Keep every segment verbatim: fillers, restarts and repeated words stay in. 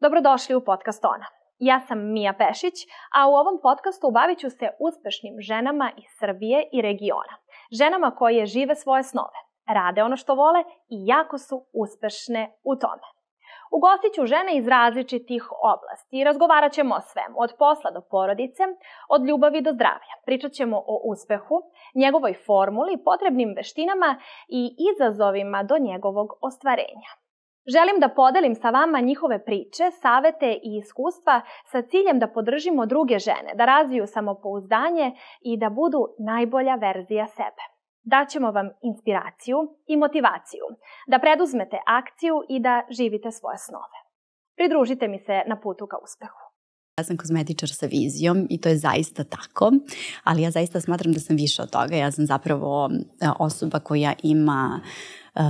Dobrodošli u podcast Ona. Ja sam Mija Pešić, a u ovom podcastu bavit ću se uspešnim ženama iz Srbije i regiona. Ženama koje žive svoje snove, rade ono što vole i jako su uspešne u tome. Ugostit ću žene iz različitih oblasti i razgovarat ćemo o svemu, od posla do porodice, od ljubavi do zdravlja. Pričat ćemo o uspehu, njegovoj formuli, potrebnim veštinama i izazovima do njegovog ostvarenja. Želim da podelim sa vama njihove priče, savete i iskustva sa ciljem da podržimo druge žene, da razviju samopouzdanje i da budu najbolja verzija sebe. Daćemo vam inspiraciju i motivaciju, da preduzmete akciju i da živite svoje snove. Pridružite mi se na putu ka uspehu. Ja sam kozmetičar sa vizijom i to je zaista tako, ali ja zaista smatram da sam više od toga. Ja sam zapravo osoba koja ima uh,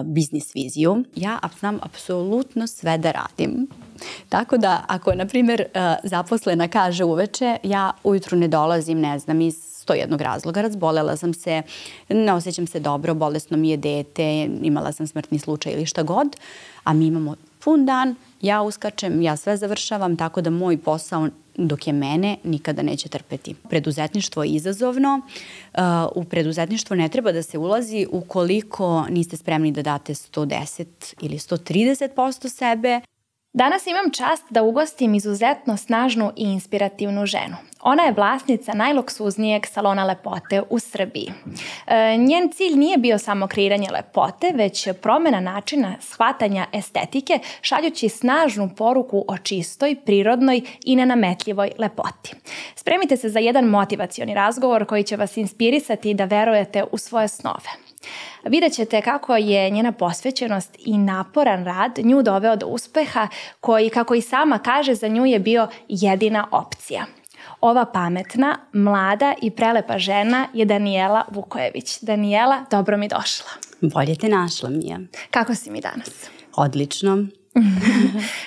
biznis viziju. Ja znam apsolutno sve da radim. Tako da ako, na primjer, uh, zaposlena kaže uveče, ja ujutru ne dolazim, ne znam, iz sto jednog razloga. Razbolela sam se, ne osjećam se dobro, bolesno mi je dete, imala sam smrtni slučaj ili šta god, a mi imamo pun dan, ja uskačem, ja sve završavam, tako da moj posao dok je mene nikada neće trpeti. Preduzetništvo je izazovno. U preduzetništvo ne treba da se ulazi ukoliko niste spremni da date sto deset ili sto trideset posto sebe. Danas imam čast da ugostim izuzetno snažnu i inspirativnu ženu. Ona je vlasnica najluksuznijeg salona lepote u Srbiji. E, njen cilj nije bio samo kreiranje lepote, već promjena načina shvatanja estetike, šaljući snažnu poruku o čistoj, prirodnoj i nenametljivoj lepoti. Spremite se za jedan motivacioni razgovor koji će vas inspirisati da verujete u svoje snove. Vidjet ćete kako je njena posvećenost i naporan rad nju doveo do uspeha koji, kako i sama kaže, za nju je bio jedina opcija. Ova pametna, mlada i prelepa žena je Danijela Vukojević. Danijela, dobro mi došla. Bolje te našla, Mija. Kako si mi danas? Odlično.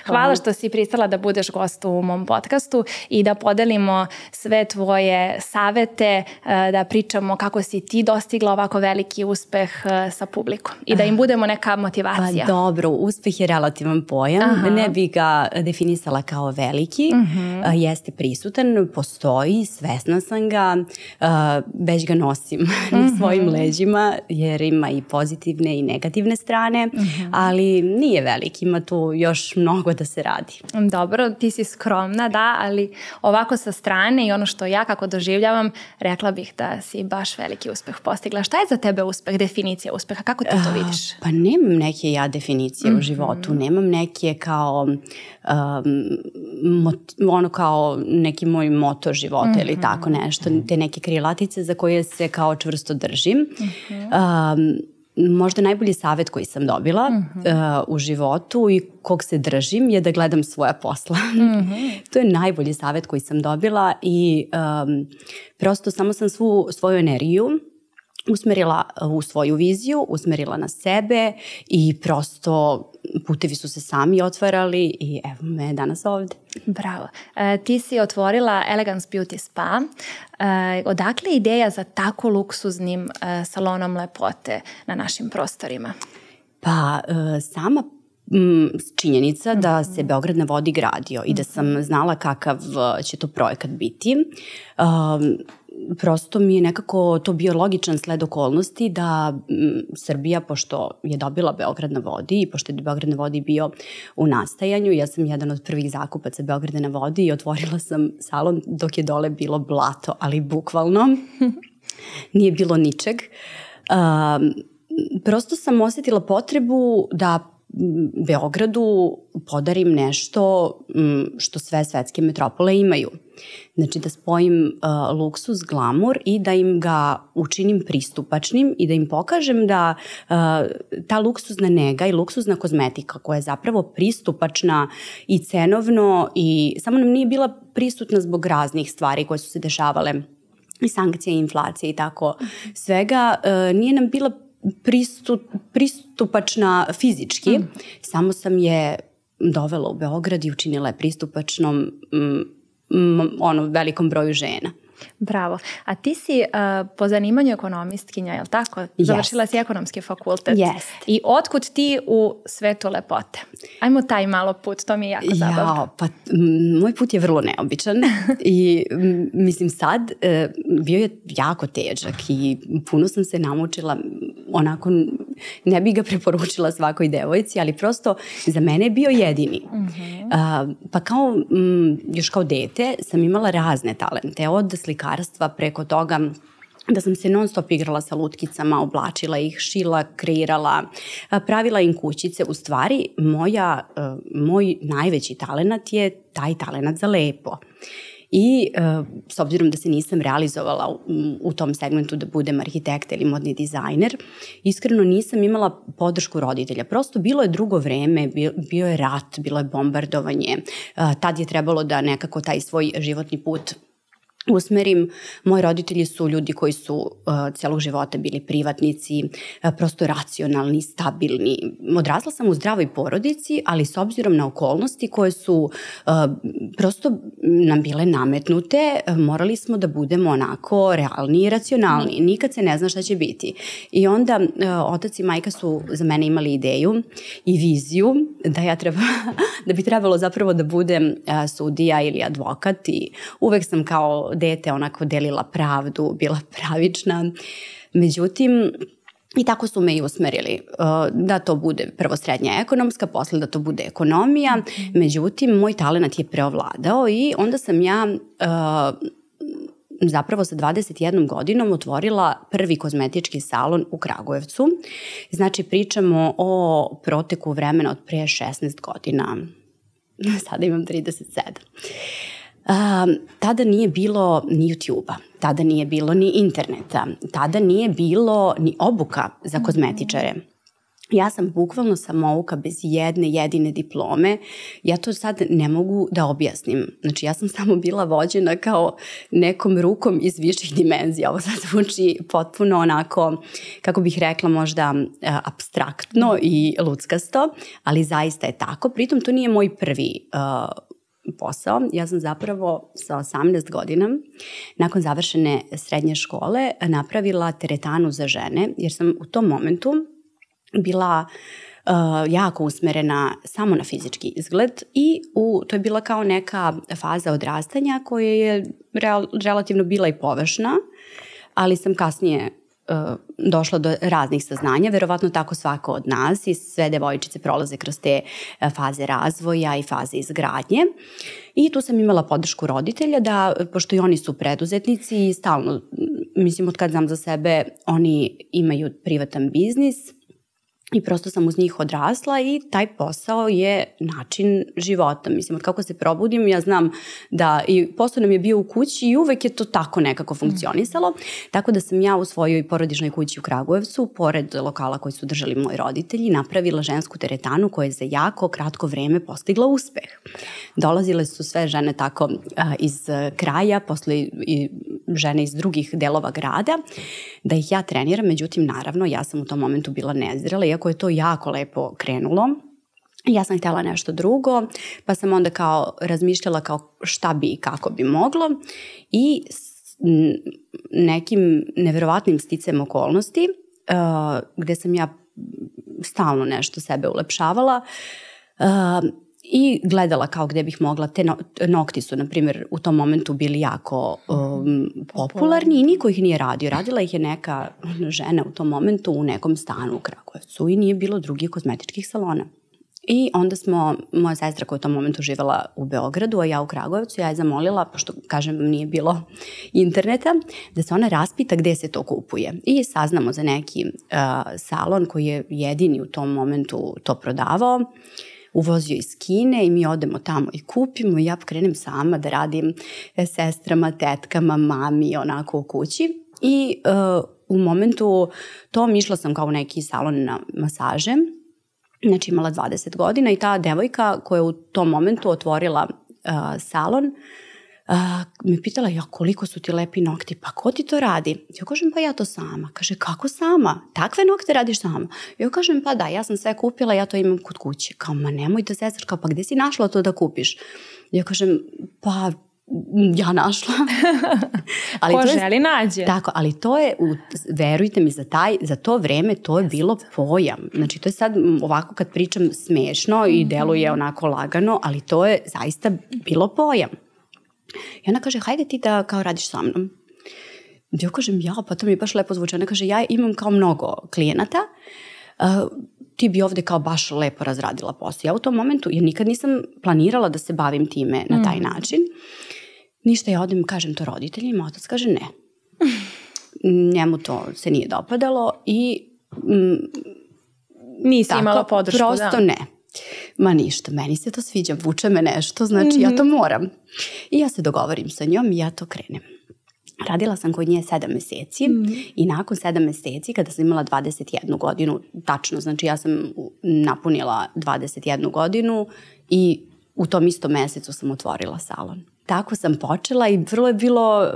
Hvala što si pristala da budeš gost u mom podcastu i da podelimo sve tvoje savete, da pričamo kako si ti dostigla ovako veliki uspeh sa publikom i da im budemo neka motivacija. Pa dobro, uspeh je relativan pojam. Aha. Ne bi ga definisala kao veliki. Uh-huh. Jeste prisutan, postoji, svesna sam ga, već ga nosim uh-huh. na svojim leđima jer ima i pozitivne i negativne strane, uh-huh. ali nije veliki, ima tu još mnogo da se radi. Dobro, ti si skromna, da, ali ovako sa strane i ono što ja kako doživljavam, rekla bih da si baš veliki uspeh postigla. Šta je za tebe uspeh, definicija uspeha? Kako ti to vidiš? Pa nemam neke ja definicije mm-hmm. u životu. Nemam neke kao um, mot, ono kao neki moj moto života mm-hmm. ili tako nešto. Te neke krilatice za koje se kao čvrsto držim. Mm-hmm. Um, Možda najbolji savjet koji sam dobila mm-hmm. uh, u životu i kog se držim je da gledam svoja posla. Mm-hmm. To je najbolji savjet koji sam dobila i um, prosto samo sam svu svoju energiju usmerila u svoju viziju, usmerila na sebe i prosto putevi su se sami otvarali i evo me danas ovde. Bravo. E, ti si otvorila Elegance Beauty Spa. E, odakle je ideja za tako luksuznim e, salonom lepote na našim prostorima? Pa e, sama m, činjenica mm-hmm. da se Beograd na vodi gradio mm-hmm. i da sam znala kakav će to projekat biti. Um, Prosto mi je nekako to bio logičan sled okolnosti da m, Srbija, pošto je dobila Beograd na vodi i pošto je Beograd na vodi bio u nastajanju, ja sam jedan od prvih zakupaca Beograda na vodi i otvorila sam salon dok je dole bilo blato, ali bukvalno nije bilo ničeg. Um, prosto sam osjetila potrebu da Beogradu podarim nešto što sve svetske metropole imaju. Znači da spojim uh, luksuz, glamur i da im ga učinim pristupačnim i da im pokažem da uh, ta luksuzna nega i luksuzna kozmetika koja je zapravo pristupačna i cenovno i samo nam nije bila prisutna zbog raznih stvari koje su se dešavale i sankcije i inflacije i tako svega, uh, nije nam bila pristup, pristupačna fizički, mm. samo sam je dovela u Beograd i učinila je pristupačnom mm, mm, ono, velikom broju žena. Bravo. A ti si uh, po zanimanju ekonomistkinja, je li tako? Yes. Završila si ekonomski fakultet. Yes. I otkud ti u svetu lepote? Ajmo taj malo put, to mi je jako zabavno. Ja, pa m, moj put je vrlo neobičan i m, mislim sad e, bio je jako težak i puno sam se namučila, onako ne bih ga preporučila svakoj devojci, ali prosto za mene je bio jedini. Mm-hmm. A, pa kao, m, još kao dete sam imala razne talente, od slikarstva preko toga da sam se non stop igrala sa lutkicama, oblačila ih, šila, kreirala, pravila im kućice. U stvari, moja, moj najveći talenat je taj talenat za lepo. I s obzirom da se nisam realizovala u, u tom segmentu da budem arhitekta ili modni dizajner, iskreno nisam imala podršku roditelja. Prosto bilo je drugo vreme, bio, bio je rat, bilo je bombardovanje. Tad je trebalo da nekako taj svoj životni put usmerim. Moji roditelji su ljudi koji su uh, celog života bili privatnici, uh, prosto racionalni, stabilni. Odrasla sam u zdravoj porodici, ali s obzirom na okolnosti koje su uh, prosto nam bile nametnute, uh, morali smo da budemo onako realni i racionalni. Nikad se ne zna šta će biti. I onda uh, otac i majka su za mene imali ideju i viziju da ja treba, da bi trebalo zapravo da budem uh, sudija ili advokat i uvek sam kao dete onako delila pravdu, bila pravična. Međutim, i tako su me i usmerili da to bude prvo srednja ekonomska, posle da to bude ekonomija. Međutim, moj talenat je preovladao i onda sam ja zapravo sa dvadeset jednom godinom otvorila prvi kozmetički salon u Kragujevcu. Znači, pričamo o proteku vremena od pre šesnaest godina. Sada imam trideset sedam. Um, tada nije bilo ni YouTube-a, tada nije bilo ni interneta, tada nije bilo ni obuka za kozmetičare. Ja sam bukvalno samouka bez jedne jedine diplome. Ja to sad ne mogu da objasnim. Znači, ja sam samo bila vođena kao nekom rukom iz viših dimenzija. Ovo sad zvuči potpuno onako, kako bih rekla, možda apstraktno i luckasto, ali zaista je tako. Pritom, to nije moj prvi uh, posao. Ja sam zapravo sa osamnaest godina, nakon završene srednje škole, napravila teretanu za žene, jer sam u tom momentu bila uh, jako usmerena samo na fizički izgled i u, to je bila kao neka faza odrastanja koja je real, relativno bila i površna, ali sam kasnije uh, došla do raznih saznanja, verovatno tako svako od nas i sve devojčice prolaze kroz te uh, faze razvoja i faze izgradnje. I tu sam imala podršku roditelja da, pošto i oni su preduzetnici i stalno, mislim, od kad znam za sebe, oni imaju privatan biznis, i prosto sam uz njih odrasla i taj posao je način života. Mislim, od kako se probudim, ja znam da i posao nam je bio u kući i uvek je to tako nekako funkcionisalo. Mm. Tako da sam ja u svojoj porodičnoj kući u Kragujevcu, pored lokala koji su držali moji roditelji, napravila žensku teretanu koja je za jako kratko vreme postigla uspeh. Dolazile su sve žene tako a, iz kraja, posle i žene iz drugih delova grada, da ih ja treniram. Međutim, naravno, ja sam u tom momentu bila nezrela, iako je to jako lepo krenulo. Ja sam htjela nešto drugo, pa sam onda kao razmišljala kao šta bi i kako bi moglo i s nekim neverovatnim sticem okolnosti, uh, gde sam ja stalno nešto sebe ulepšavala, uh, i gledala kao gde bih mogla, te no, nokti su, na primjer, u tom momentu bili jako um, popularni i niko ih nije radio. Radila ih je neka žena u tom momentu u nekom stanu u Kragujevcu i nije bilo drugih kozmetičkih salona. I onda smo, moja sestra koja je u tom momentu živela u Beogradu, a ja u Kragujevcu, ja je zamolila, pošto, kažem, nije bilo interneta, da se ona raspita gde se to kupuje. I saznamo za neki uh, salon koji je jedini u tom momentu to prodavao. Uvozio iz Kine i mi odemo tamo i kupimo i ja krenem sama da radim sestrama, tetkama, mami, onako u kući. I uh, u momentu tom išla sam kao u neki salon na masaže, znači imala dvadeset godina i ta devojka koja je u tom momentu otvorila uh, salon, uh, me pitala, ja, koliko su ti lepi nokti, pa ko ti to radi? Ja kažem, pa ja to sama. Kaže, kako sama? Takve nokte radiš sama? Ja kažem, pa da, ja sam sve kupila, ja to imam kod kuće. Kao, ma nemoj da sestraš, kao, pa gde si našla to da kupiš? Ja kažem, pa ja našla. ali Ko to je, želi nađe. Tako, ali to je, verujte mi, za, taj, za to vreme to je bilo pojam. Znači to je sad ovako kad pričam smešno i deluje onako lagano, ali to je zaista bilo pojam. I ona kaže, hajde ti da kao radiš sa mnom. Ja kažem, ja, pa to mi je baš lepo zvuče. Ona kaže, ja imam kao mnogo klijenata, uh, ti bi ovde kao baš lepo razradila posao. Ja u tom momentu, jer nikad nisam planirala da se bavim time na taj mm. način, ništa, ja odem, kažem to roditeljima, otac kaže ne. Njemu to se nije dopadalo i mm, nisi tako, imala podršku, prosto da. ne. Ma ništa, meni se to sviđa, vuče me nešto, znači mm-hmm. ja to moram. I ja se dogovorim sa njom i ja to krenem. Radila sam kod nje sedam meseci mm. i nakon sedam meseci, kada sam imala dvadeset jednu godinu, tačno, znači ja sam napunila dvadeset jednu godinu i u tom istom mesecu sam otvorila salon. Tako sam počela i vrlo je bilo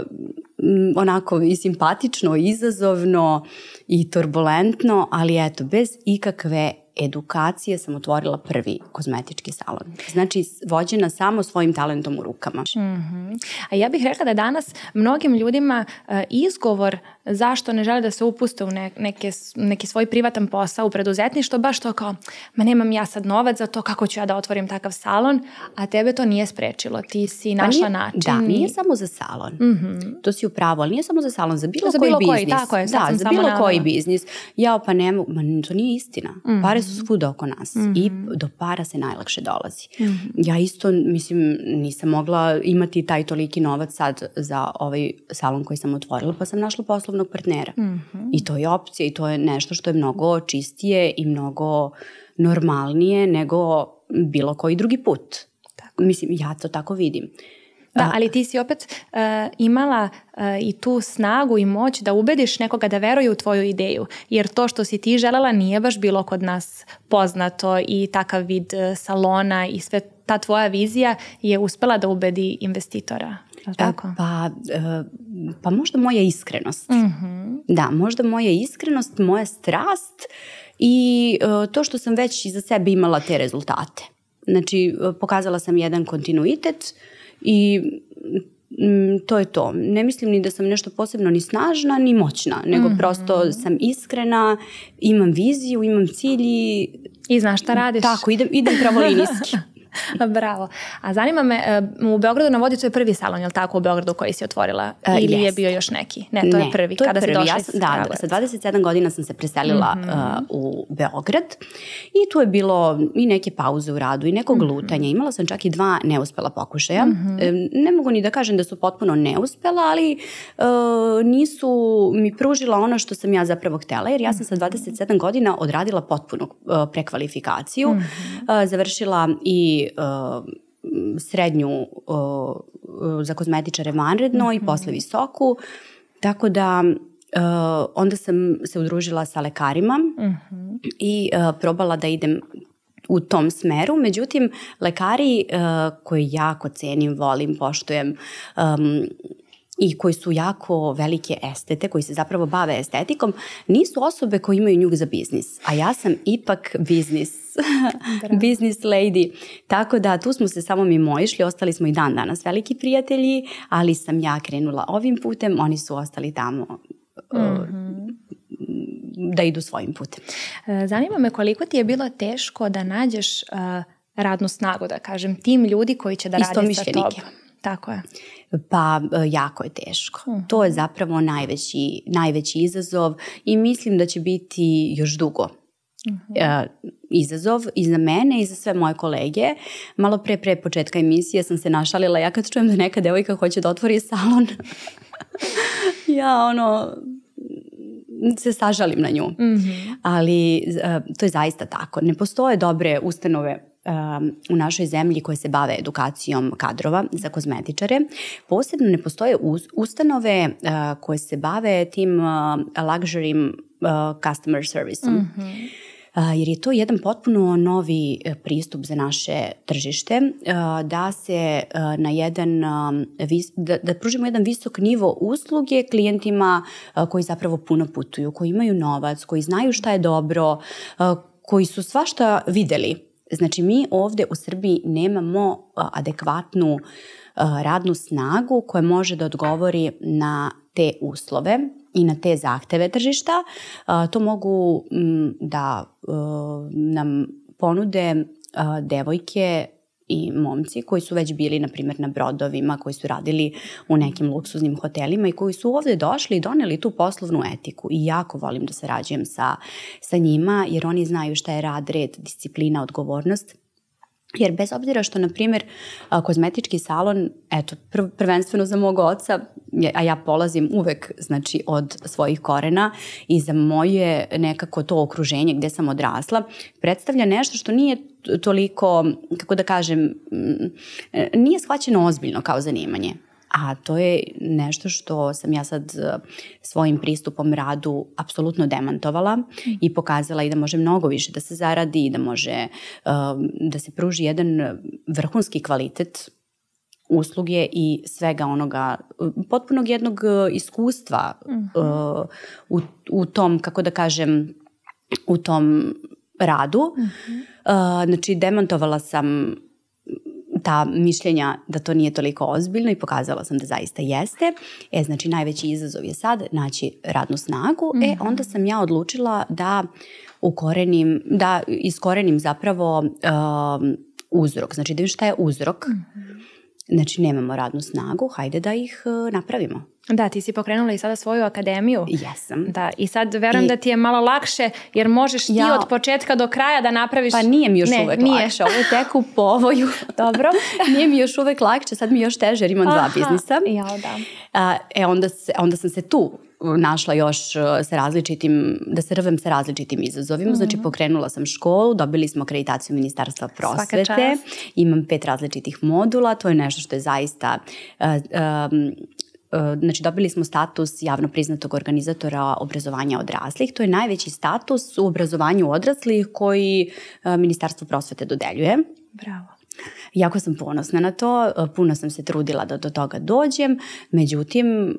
m, onako i simpatično, i izazovno i turbulentno, ali eto, bez ikakve edukacije sam otvorila prvi kozmetički salon. Znači, vođena samo svojim talentom u rukama. Mm-hmm. A ja bih rekla da danas mnogim ljudima uh, izgovor zašto ne žele da se upuste u ne, neke, neki svoj privatan posao u preduzetništvo, baš to kao, ma nemam ja sad novac za to, kako ću ja da otvorim takav salon, a tebe to nije sprečilo. Ti si našla pa nije, način. Da, nije samo za salon. Mm-hmm. To si upravo, ali nije samo za salon, za bilo, za koji bilo biznis. Koji, tako je, da, za bilo koji biznis. Ja pa ne mogu, ma to nije istina. Mm-hmm. Pare su svuda oko nas mm-hmm. i do para se najlakše dolazi. Mm-hmm. Ja isto, mislim, nisam mogla imati taj toliki novac sad za ovaj salon koji sam otvorila, pa sam našla poslovnog partnera. Mm-hmm. I to je opcija i to je nešto što je mnogo čistije i mnogo normalnije nego bilo koji drugi put. Tako. Mislim, ja to tako vidim. Da, ali ti si opet uh, imala uh, i tu snagu i moć da ubediš nekoga da veruje u tvoju ideju. Jer to što si ti želela nije baš bilo kod nas poznato i takav vid uh, salona i sve ta tvoja vizija je uspela da ubedi investitora. Tako? Pa, pa možda moja iskrenost. Mm-hmm. Da, možda moja iskrenost, moja strast i to što sam već iza sebe imala te rezultate. Znači, pokazala sam jedan kontinuitet i to je to. Ne mislim ni da sam nešto posebno ni snažna, ni moćna, nego mm-hmm. prosto sam iskrena, imam viziju, imam cilj i... I znaš šta radiš. Tako, idem, idem pravolinijski. Bravo. A zanima me, u Beogradu na vodi to je prvi salon, je li tako, u Beogradu koji si otvorila? Ili uh, je bio još neki? Ne, to ne, je prvi. To je Kada prvi. si došla ja sam, da, da, sa dvadeset sedam godina sam se preselila mm-hmm. uh, u Beograd i tu je bilo i neke pauze u radu i nekog mm-hmm. lutanja. Imala sam čak i dva neuspela pokušaja. Mm-hmm. Ne mogu ni da kažem da su potpuno neuspela, ali uh, nisu mi pružila ono što sam ja zapravo htela, jer ja sam sa dvadeset sedam godina odradila potpunu uh, prekvalifikaciju, mm-hmm. uh, završila i uh, srednju uh, za kozmetičare vanredno mm-hmm. i posle visoku, tako da uh, onda sam se udružila sa lekarima mm-hmm. i uh, probala da idem u tom smeru, međutim lekari uh, koje jako cenim, volim, poštujem um, i koji su jako velike estete, koji se zapravo bave estetikom, nisu osobe koje imaju njuh za biznis. A ja sam ipak biznis, business lady. Tako da tu smo se samo mimo išli, ostali smo i dan danas veliki prijatelji, ali sam ja krenula ovim putem, oni su ostali tamo mm-hmm. da idu svojim putem. Zanima me koliko ti je bilo teško da nađeš uh, radnu snagu, da kažem, tim ljudi koji će da rade sa tobom. Tako je. Pa jako je teško. Uh-huh. To je zapravo najveći, najveći izazov i mislim da će biti još dugo uh-huh. uh, izazov i za mene i za sve moje kolege. Malo pre pre početka emisije sam se našalila, ja kad čujem da neka devojka hoće da otvori salon, ja ono... se sažalim na nju. Mm-hmm. Ali uh, to je zaista tako. Ne postoje dobre ustanove um, u našoj zemlji koje se bave edukacijom kadrova za kozmetičare. Posebno ne postoje us- ustanove uh, koje se bave tim uh, luxury uh, customer serviceom. Mm-hmm. Uh, jer je to jedan potpuno novi uh, pristup za naše tržište, uh, da se uh, na jedan, um, vis, da, da pružimo jedan visok nivo usluge klijentima uh, koji zapravo puno putuju, koji imaju novac, koji znaju šta je dobro, uh, koji su svašta videli Znači, mi ovde u Srbiji nemamo adekvatnu radnu snagu koja može da odgovori na te uslove i na te zahteve tržišta. To mogu da nam ponude devojke i momci koji su već bili, na primjer, na brodovima, koji su radili u nekim luksuznim hotelima i koji su ovde došli i doneli tu poslovnu etiku. I jako volim da sarađujem sa, sa njima, jer oni znaju šta je rad, red, disciplina, odgovornost. Jer bez obzira što, na primjer, kozmetički salon, eto, prv, prvenstveno za mog oca, a ja polazim uvek, znači, od svojih korena i za moje nekako to okruženje gde sam odrasla, predstavlja nešto što nije toliko, kako da kažem, nije shvaćeno ozbiljno kao zanimanje. A to je nešto što sam ja sad svojim pristupom radu apsolutno demantovala i pokazala i da može mnogo više da se zaradi i da može da se pruži jedan vrhunski kvalitet usluge i svega onoga, potpunog jednog iskustva uh-huh. u, u tom, kako da kažem, u tom radu. Uh-huh. Uh, znači, demantovala sam ta mišljenja da to nije toliko ozbiljno i pokazala sam da zaista jeste. E, znači, najveći izazov je sad naći radnu snagu. Mm-hmm. E, onda sam ja odlučila da ukorenim, da iskorenim zapravo uh, uzrok. Znači, da vidim šta je uzrok. Mm-hmm. Znači, nemamo radnu snagu, hajde da ih uh, napravimo. Da, ti si pokrenula i sada svoju akademiju. Jesam. Da, i sad verujem I... da ti je malo lakše, jer možeš ti ja... od početka do kraja da napraviš... Pa nije mi još ne, uvek nije. lakše, ovo je tek u povoju. Dobro. Nije mi još uvek lakše, sad mi je još teže jer imam Aha. dva biznisa. Ja, da. A, e, onda, se, onda sam se tu našla još sa različitim, da se rvem sa različitim izazovima. Mm-hmm. Znači, pokrenula sam školu, dobili smo akreditaciju Ministarstva prosvete, imam pet različitih modula, to je nešto što je zaista... Uh, um, Znači, dobili smo status javno priznatog organizatora obrazovanja odraslih. To je najveći status u obrazovanju odraslih koji Ministarstvo prosvete dodeljuje. Bravo. Jako sam ponosna na to, puno sam se trudila da do toga dođem, međutim,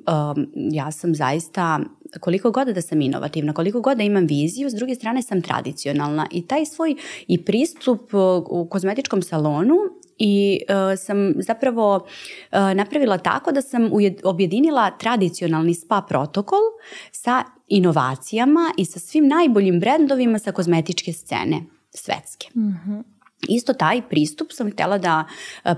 ja sam zaista, koliko god da sam inovativna, koliko god da imam viziju, s druge strane sam tradicionalna i taj svoj i pristup u kozmetičkom salonu i uh, sam zapravo uh, napravila tako da sam ujed, objedinila tradicionalni spa protokol sa inovacijama i sa svim najboljim brendovima sa kozmetičke scene svetske. Mm-hmm. Isto taj pristup sam htjela da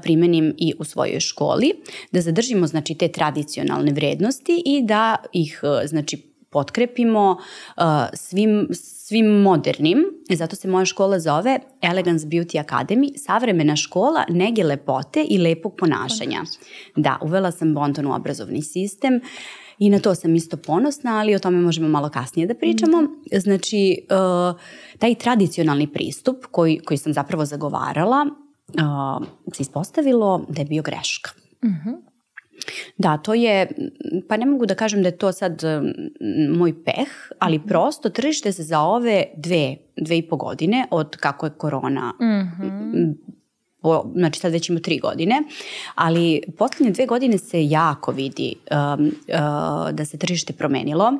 primenim i u svojoj školi, da zadržimo, znači, te tradicionalne vrednosti i da ih, znači, potkrepimo uh, svim, svim modernim. Zato se moja škola zove Elegance Beauty Academy, savremena škola nege lepote i lepog ponašanja. Da, uvela sam Bonton u obrazovni sistem i na to sam isto ponosna, ali o tome možemo malo kasnije da pričamo. Znači, uh, taj tradicionalni pristup koji, koji sam zapravo zagovarala uh, se ispostavilo da je bio greška. Mhm. Da, to je, pa ne mogu da kažem da je to sad moj peh, ali prosto tržište se za ove dve, dve i po godine od kako je korona, mm-hmm. po, znači sad već ima tri godine, ali poslednje dve godine se jako vidi um, uh, da se tržište promenilo,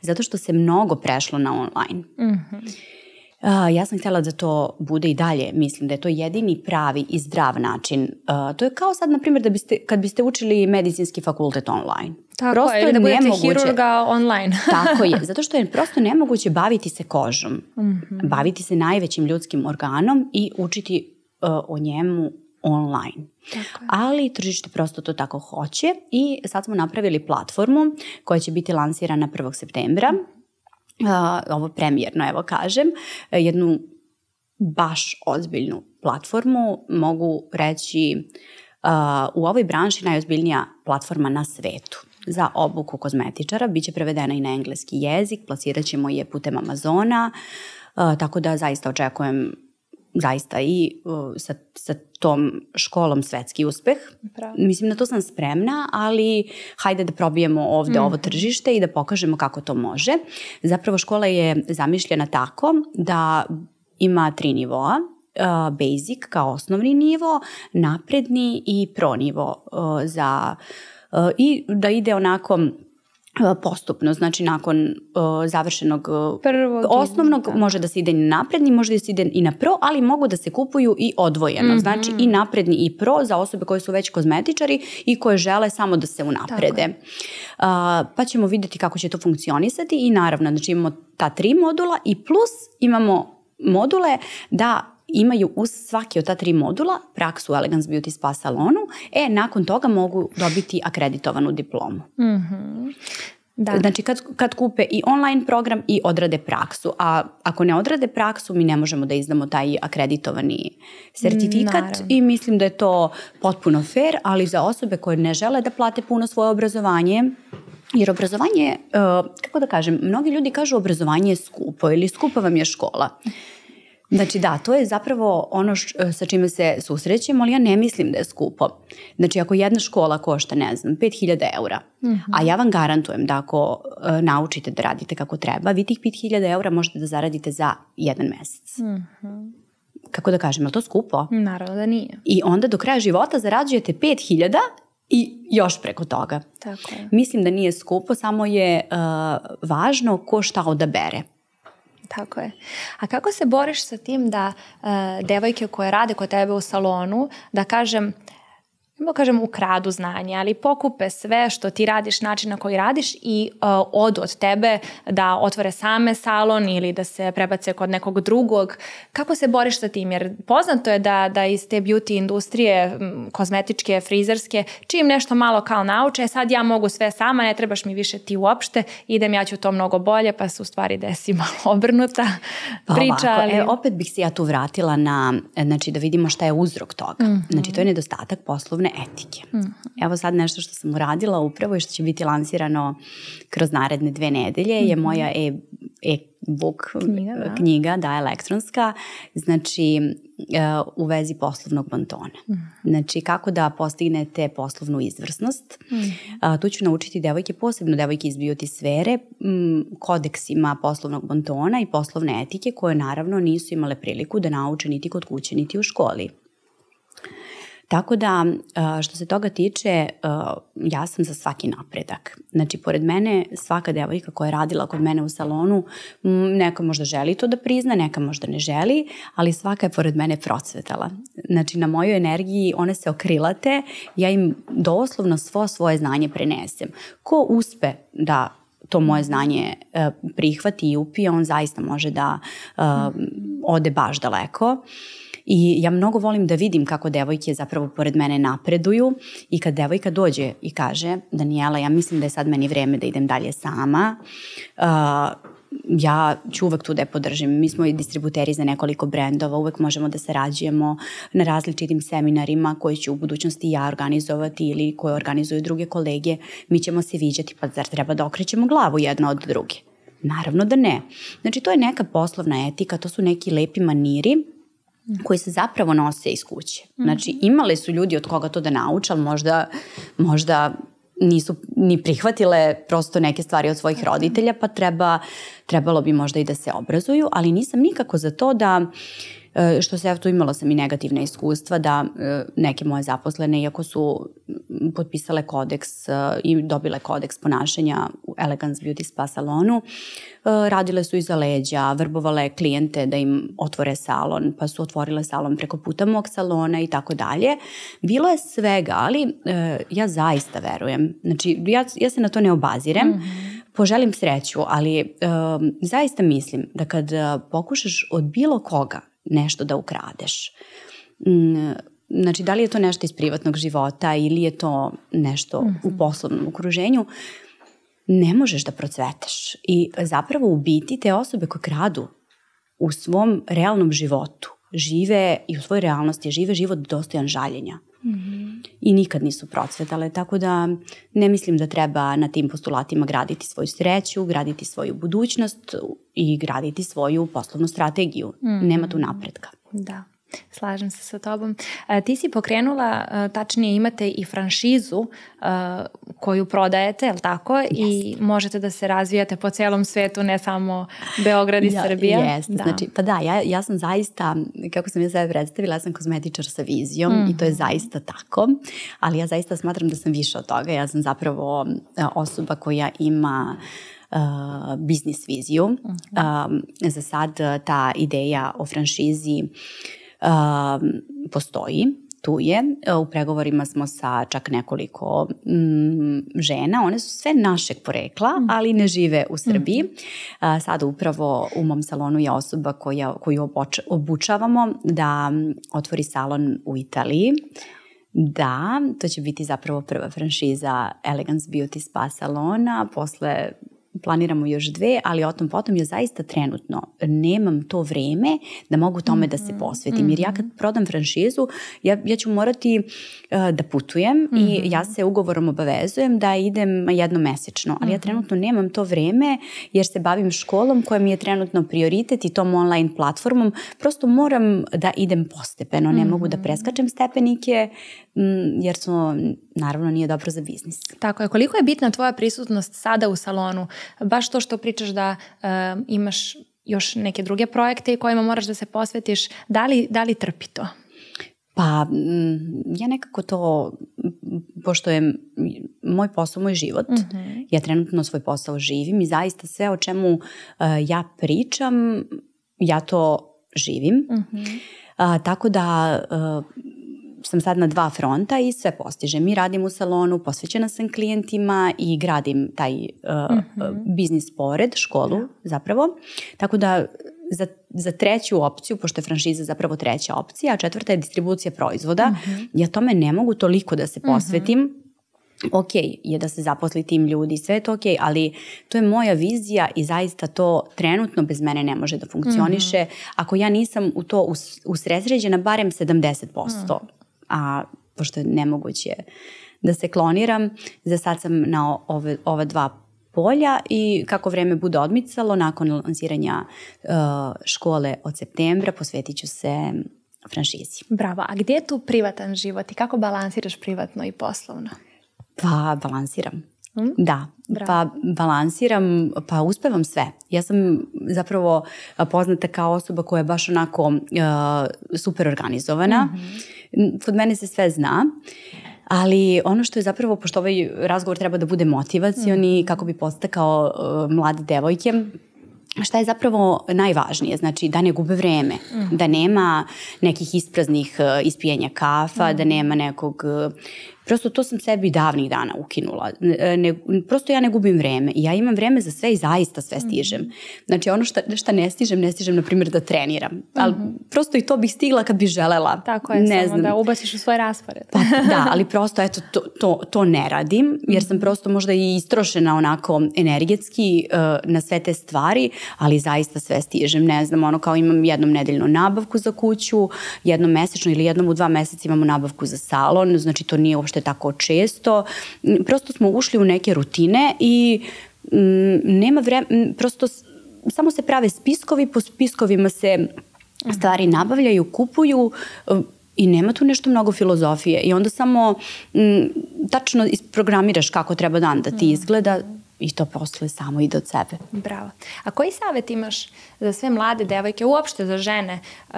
zato što se mnogo prešlo na online. Mm-hmm. Uh, ja sam htjela da to bude i dalje, mislim da je to jedini pravi i zdrav način. Uh, to je kao sad, na primjer, da biste, kad biste učili medicinski fakultet online. Tako prosto je, ili da budete nemoguće, hirurga online. Tako je, zato što je prosto nemoguće baviti se kožom, mm-hmm. baviti se najvećim ljudskim organom i učiti uh, o njemu online. Ali tržište prosto to tako hoće i sad smo napravili platformu koja će biti lansirana prvog septembra. Uh, ovo premijerno, evo kažem, jednu baš ozbiljnu platformu, mogu reći uh, u ovoj branši najozbiljnija platforma na svetu za obuku kozmetičara, biće prevedena i na engleski jezik, plasirat ćemo je putem Amazona, uh, tako da zaista očekujem zaista i uh, sa, sa tom školom svetski uspeh. Pravo. Mislim, na to sam spremna, ali hajde da probijemo ovde mm. ovo tržište i da pokažemo kako to može. Zapravo škola je zamišljena tako da ima tri nivoa. Uh, basic kao osnovni nivo, napredni i pro nivo uh, za, uh, i da ide onako postupno, znači nakon uh, završenog uh, Prvog osnovnog da. Može da se ide i na napredni, može da se ide i na pro, ali mogu da se kupuju i odvojeno, mm-hmm. znači i napredni i pro za osobe koje su već kozmetičari i koje žele samo da se unaprede. Uh, pa ćemo vidjeti kako će to funkcionisati i naravno, znači imamo ta tri modula i plus imamo module da imaju uz svaki od ta tri modula praksu u Elegance Beauty Spa salonu, e, nakon toga mogu dobiti akreditovanu diplomu. Mm-hmm. Da. Znači kad, kad kupe i online program i odrade praksu, a ako ne odrade praksu mi ne možemo da izdamo taj akreditovani sertifikat. Naravno. I mislim da je to potpuno fair, ali za osobe koje ne žele da plate puno svoje obrazovanje, jer obrazovanje, kako da kažem, mnogi ljudi kažu obrazovanje je skupo ili skupa vam je škola. Znači da, to je zapravo ono š, sa čime se susrećemo, ali ja ne mislim da je skupo. Znači ako jedna škola košta, ne znam, pet hiljada eura, mm-hmm. a ja vam garantujem da ako uh, naučite da radite kako treba, vi tih pet hiljada eura možete da zaradite za jedan mesec. Mm-hmm. Kako da kažem, je li to skupo? Naravno da nije. I onda do kraja života zarađujete pet hiljada i još preko toga. Tako je. Mislim da nije skupo, samo je uh, važno ko šta odabere. Tako je. A kako se boriš sa tim da uh, devojke koje rade kod tebe u salonu, da kažem, ne kažem ukradu znanje, ali pokupe sve što ti radiš, način na koji radiš i uh, odu od tebe da otvore same salon ili da se prebace kod nekog drugog. Kako se boriš sa tim? Jer poznato je da, da iz te beauty industrije, kozmetičke, frizerske, čim nešto malo kao nauče, sad ja mogu sve sama, ne trebaš mi više ti uopšte, idem, ja ću to mnogo bolje, pa se u stvari desi malo obrnuta pa priča. Ovako, ali... e, opet bih se ja tu vratila na, znači da vidimo šta je uzrok toga. Mm-hmm. Znači to je nedostatak poslovne etike. Mm-hmm. Evo sad nešto što sam uradila upravo i što će biti lansirano kroz naredne dve nedelje mm-hmm. je moja e, e-book knjiga, da. knjiga, da, elektronska, znači uh, u vezi poslovnog bontona. Mm-hmm. Znači kako da postignete poslovnu izvrsnost. Mm-hmm. Uh, tu ću naučiti devojke, posebno devojke iz beauty sfere, m, kodeksima poslovnog bontona i poslovne etike koje naravno nisu imale priliku da nauče niti kod kuće, niti u školi. Tako da, što se toga tiče, ja sam za svaki napredak. Znači, pored mene, svaka devojka koja je radila kod mene u salonu, neka možda želi to da prizna, neka možda ne želi, ali svaka je pored mene procvetala. Znači, na mojoj energiji one se okrilate, ja im doslovno svo svoje znanje prenesem. Ko uspe da to moje znanje prihvati i upije, on zaista može da ode baš daleko. I ja mnogo volim da vidim kako devojke zapravo pored mene napreduju i kad devojka dođe i kaže, Danijela, ja mislim da je sad meni vreme da idem dalje sama, uh, ja ću uvek tu da je podržim. Mi smo i distributeri za nekoliko brendova, uvek možemo da sarađujemo na različitim seminarima koji ću u budućnosti ja organizovati ili koje organizuju druge kolege. Mi ćemo se viđati, pa zar treba da okrećemo glavu jedna od druge? Naravno da ne. Znači to je neka poslovna etika, to su neki lepi maniri koji se zapravo nose iz kuće. Znači, imali su ljudi od koga to da nauče, ali možda, možda nisu ni prihvatile prosto neke stvari od svojih roditelja, pa treba, trebalo bi možda i da se obrazuju, ali nisam nikako za to da, što se ja tu imala sam i negativne iskustva, da neke moje zaposlene, iako su potpisale kodeks i dobile kodeks ponašanja u Elegance Beauty Spa salonu, radile su iza leđa, vrbovale klijente da im otvore salon, pa su otvorile salon preko puta mog salona i tako dalje. Bilo je svega, ali ja zaista verujem. Znači, ja, ja se na to ne obazirem, mm-hmm. poželim sreću, ali um, zaista mislim da kad pokušaš od bilo koga nešto da ukradeš, um, znači da li je to nešto iz privatnog života ili je to nešto mm-hmm. u poslovnom okruženju, ne možeš da procvetaš. I zapravo u biti te osobe koje kradu u svom realnom životu žive i u svojoj realnosti žive život dostojan žaljenja. Mm-hmm. I nikad nisu procvetale, tako da ne mislim da treba na tim postulatima graditi svoju sreću, graditi svoju budućnost i graditi svoju poslovnu strategiju. Mm-hmm. Nema tu napretka. Da. slažem se sa tobom. A, ti si pokrenula, a, tačnije imate i franšizu a, koju prodajete, je li tako? Yes. I možete da se razvijate po celom svetu, ne samo Beograd i ja, Srbija. Jeste, da. Znači, pa da, ja, ja sam zaista, kako sam ja sebe predstavila, ja sam kozmetičar sa vizijom mm-hmm. i to je zaista tako, ali ja zaista smatram da sam više od toga. Ja sam zapravo osoba koja ima Uh, biznis viziju. Uh-huh. Um, za sad ta ideja o franšizi uh, postoji, tu je. U pregovorima smo sa čak nekoliko mm, žena. One su sve našeg porekla, uh-huh. ali ne žive u Srbiji. Uh-huh. Uh, sada upravo u mom salonu je osoba koja, koju oboč, obučavamo da otvori salon u Italiji. Da, to će biti zapravo prva franšiza Elegance Beauty Spa salona. Posle planiramo još dve, ali o tom potom ja zaista trenutno nemam to vreme da mogu tome mm-hmm. da se posvetim. Jer ja kad prodam franšizu, ja, ja ću morati uh, da putujem mm-hmm. i ja se ugovorom obavezujem da idem jednom mesečno. Ali mm-hmm. ja trenutno nemam to vreme jer se bavim školom koja mi je trenutno prioritet i tom online platformom. Prosto moram da idem postepeno. Ne mm-hmm. mogu da preskačem stepenike m, jer to naravno nije dobro za biznis. Tako je. Koliko je bitna tvoja prisutnost sada u salonu? Baš to što pričaš da uh, imaš još neke druge projekte kojima moraš da se posvetiš, da li, da li trpi to? Pa ja nekako to, pošto je moj posao, moj život, mm-hmm. ja trenutno svoj posao živim i zaista sve o čemu uh, ja pričam, ja to živim. Mm-hmm. Uh, tako da uh, sam sad na dva fronta i sve postižem. Mi radim u salonu, posvećena sam klijentima i gradim taj uh, mm-hmm. biznis pored, školu yeah. zapravo. Tako da za, za treću opciju, pošto je franšiza zapravo treća opcija, a četvrta je distribucija proizvoda, mm-hmm. ja tome ne mogu toliko da se posvetim. Mm-hmm. Ok, je da se zaposli tim ljudi, sve je to ok, ali to je moja vizija i zaista to trenutno bez mene ne može da funkcioniše. Mm-hmm. Ako ja nisam u to us, usredsređena barem sedamdeset posto. Mm. A pošto je nemoguće da se kloniram, za sad sam na ove, ova dva polja i kako vreme bude odmicalo, nakon lansiranja uh, škole od septembra posvetit ću se franšizi. Bravo, a gdje je tu privatan život i kako balansiraš privatno i poslovno? Pa balansiram. Hmm? Da, Bravo. pa balansiram, pa uspevam sve. Ja sam zapravo poznata kao osoba koja je baš onako uh, super organizovana. Mm-hmm. Kod mene se sve zna, ali ono što je zapravo, pošto ovaj razgovor treba da bude motivacioni, mm-hmm. kako bi podstakao uh, mlade devojke, šta je zapravo najvažnije? Znači da ne gube vreme, mm. da nema nekih ispraznih uh, ispijenja kafa, mm. da nema nekog... Uh, prosto to sam sebi davnih dana ukinula. Ne, prosto ja ne gubim vreme. Ja imam vreme za sve i zaista sve stižem. Mm. Znači ono šta, šta ne stižem, ne stižem na primjer da treniram. Mm-hmm. Ali prosto i to bih stigla kad bih želela. Tako je, ne samo znam. Da ubaciš u svoj raspored. Pa, da, ali prosto eto to, to, to ne radim jer sam prosto možda i istrošena onako energetski uh, na sve te stvari, ali zaista sve stižem. Ne znam, ono kao imam jednom nedeljnu nabavku za kuću, jednom mesečno ili jednom u dva meseca imamo nabavku za salon, znači to nije uopšte tako često. Prosto smo ušli u neke rutine i m, nema vremena, prosto samo se prave spiskovi, po spiskovima se stvari nabavljaju, kupuju i nema tu nešto mnogo filozofije i onda samo m, tačno isprogramiraš kako treba dan da ti izgleda i to posle samo ide od sebe. Bravo. A koji savjet imaš za sve mlade devojke, uopšte za žene, uh,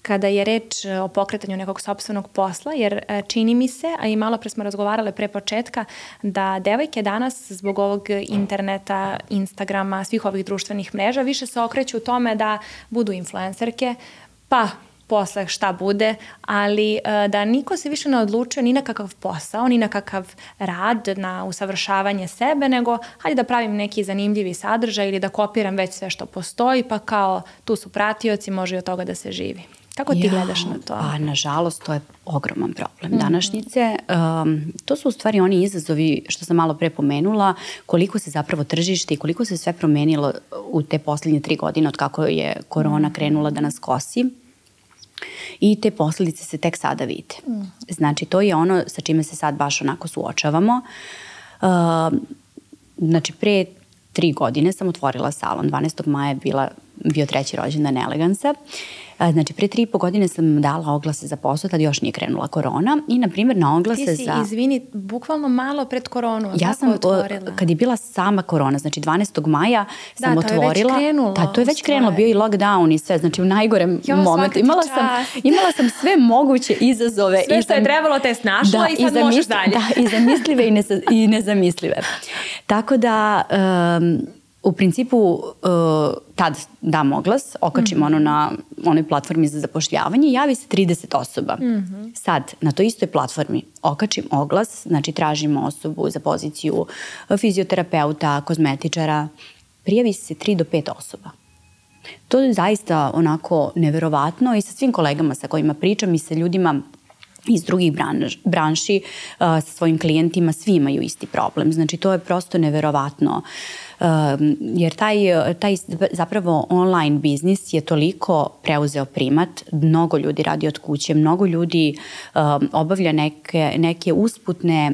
kada je reč o pokretanju nekog sopstvenog posla, jer čini mi se, a i malo pre smo razgovarale pre početka, da devojke danas zbog ovog interneta, Instagrama, svih ovih društvenih mreža više se okreću u tome da budu influencerke, pa posle šta bude, ali da niko se više ne odlučuje ni na kakav posao, ni na kakav rad, na usavršavanje sebe, nego hajde da pravim neki zanimljivi sadržaj ili da kopiram već sve što postoji, pa kao tu su pratioci, može i od toga da se živi. Kako ti ja, gledaš na to? Pa, nažalost, to je ogroman problem mm-hmm. današnjice. Um, to su u stvari oni izazovi što sam malo pre pomenula, koliko se zapravo tržište i koliko se sve promenilo u te posljednje tri godine od kako je korona krenula da nas kosi. I te posljedice se tek sada vide. Mm. Znači, to je ono sa čime se sad baš onako suočavamo. Uh, znači, pre tri godine sam otvorila salon. dvanaestog maja je bila bio treći rođendan Elegansa. Znači, pre tri i po godine sam dala oglase za posao, tad još nije krenula korona i, na primjer, na oglase za... Ti si, za... izvini, bukvalno malo pred koronu, ja sam otvorila? Kad je bila sama korona, znači dvanaestog maja sam da, otvorila... Da, to je već krenulo. Da, to je već krenulo, bio i lockdown i sve, znači u najgorem jo, momentu. Imala sam, imala sam sve moguće izazove. Sve što sam, je trebalo te snašla da, i sad i možeš dalje. Da, i zamislive i, neza, i nezamislive. Tako da... Um, U principu, uh, tad dam oglas, okačim mm-hmm. ono na onoj platformi za zapošljavanje, javi se trideset osoba. Mm-hmm. Sad, na toj istoj platformi okačim oglas, znači tražimo osobu za poziciju fizioterapeuta, kozmetičara, prijavi se tri do pet osoba. To je zaista onako neverovatno i sa svim kolegama sa kojima pričam i sa ljudima iz drugih branž, branši, uh, sa svojim klijentima, svi imaju isti problem. Znači, to je prosto neverovatno. Uh, jer taj, taj zapravo online biznis je toliko preuzeo primat, mnogo ljudi radi od kuće, mnogo ljudi uh, obavlja neke, neke usputne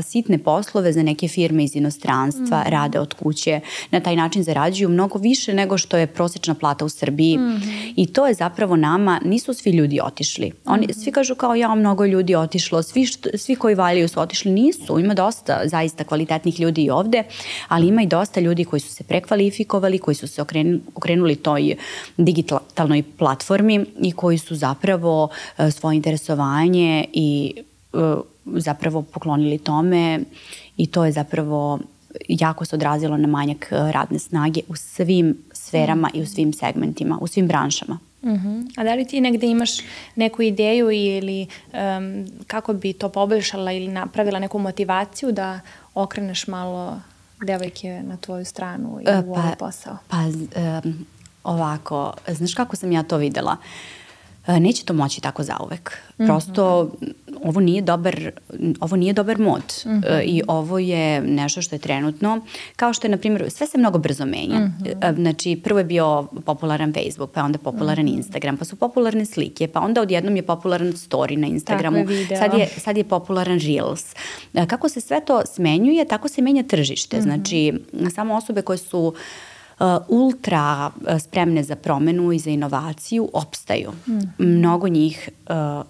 sitne poslove za neke firme iz inostranstva, mm. rade od kuće, na taj način zarađuju mnogo više nego što je prosječna plata u Srbiji mm. i to je zapravo nama, nisu svi ljudi otišli. Oni, mm. Svi kažu kao ja, mnogo ljudi otišlo, svi, što, svi koji valjaju su otišli, nisu, ima dosta zaista kvalitetnih ljudi i ovde, ali ima i dosta ljudi koji su se prekvalifikovali, koji su se okrenuli, okrenuli toj digitalnoj platformi i koji su zapravo svoje interesovanje i zapravo poklonili tome i to je zapravo jako se odrazilo na manjak radne snage u svim sferama i u svim segmentima, u svim branšama. Uh-huh. A da li ti negde imaš neku ideju ili um, kako bi to poboljšala ili napravila neku motivaciju da okreneš malo devojke na tvoju stranu i u pa, ovaj posao? Pa um, ovako, znaš kako sam ja to videla? Neće to moći tako zauvek. Prosto mm-hmm. ovo nije dobar, ovo nije dobar mod mm-hmm. i ovo je nešto što je trenutno, kao što je, na primjer, sve se mnogo brzo menja. Mm-hmm. Znači, prvo je bio popularan Facebook, pa onda popularan mm-hmm. Instagram, pa su popularne slike, pa onda odjednom je popularan story na Instagramu, je sad, je, sad je popularan Reels. Kako se sve to smenjuje, tako se menja tržište. Mm-hmm. Znači, samo osobe koje su Uh, ultra spremne za promenu i za inovaciju opstaju. Mm-hmm. Mnogo njih uh,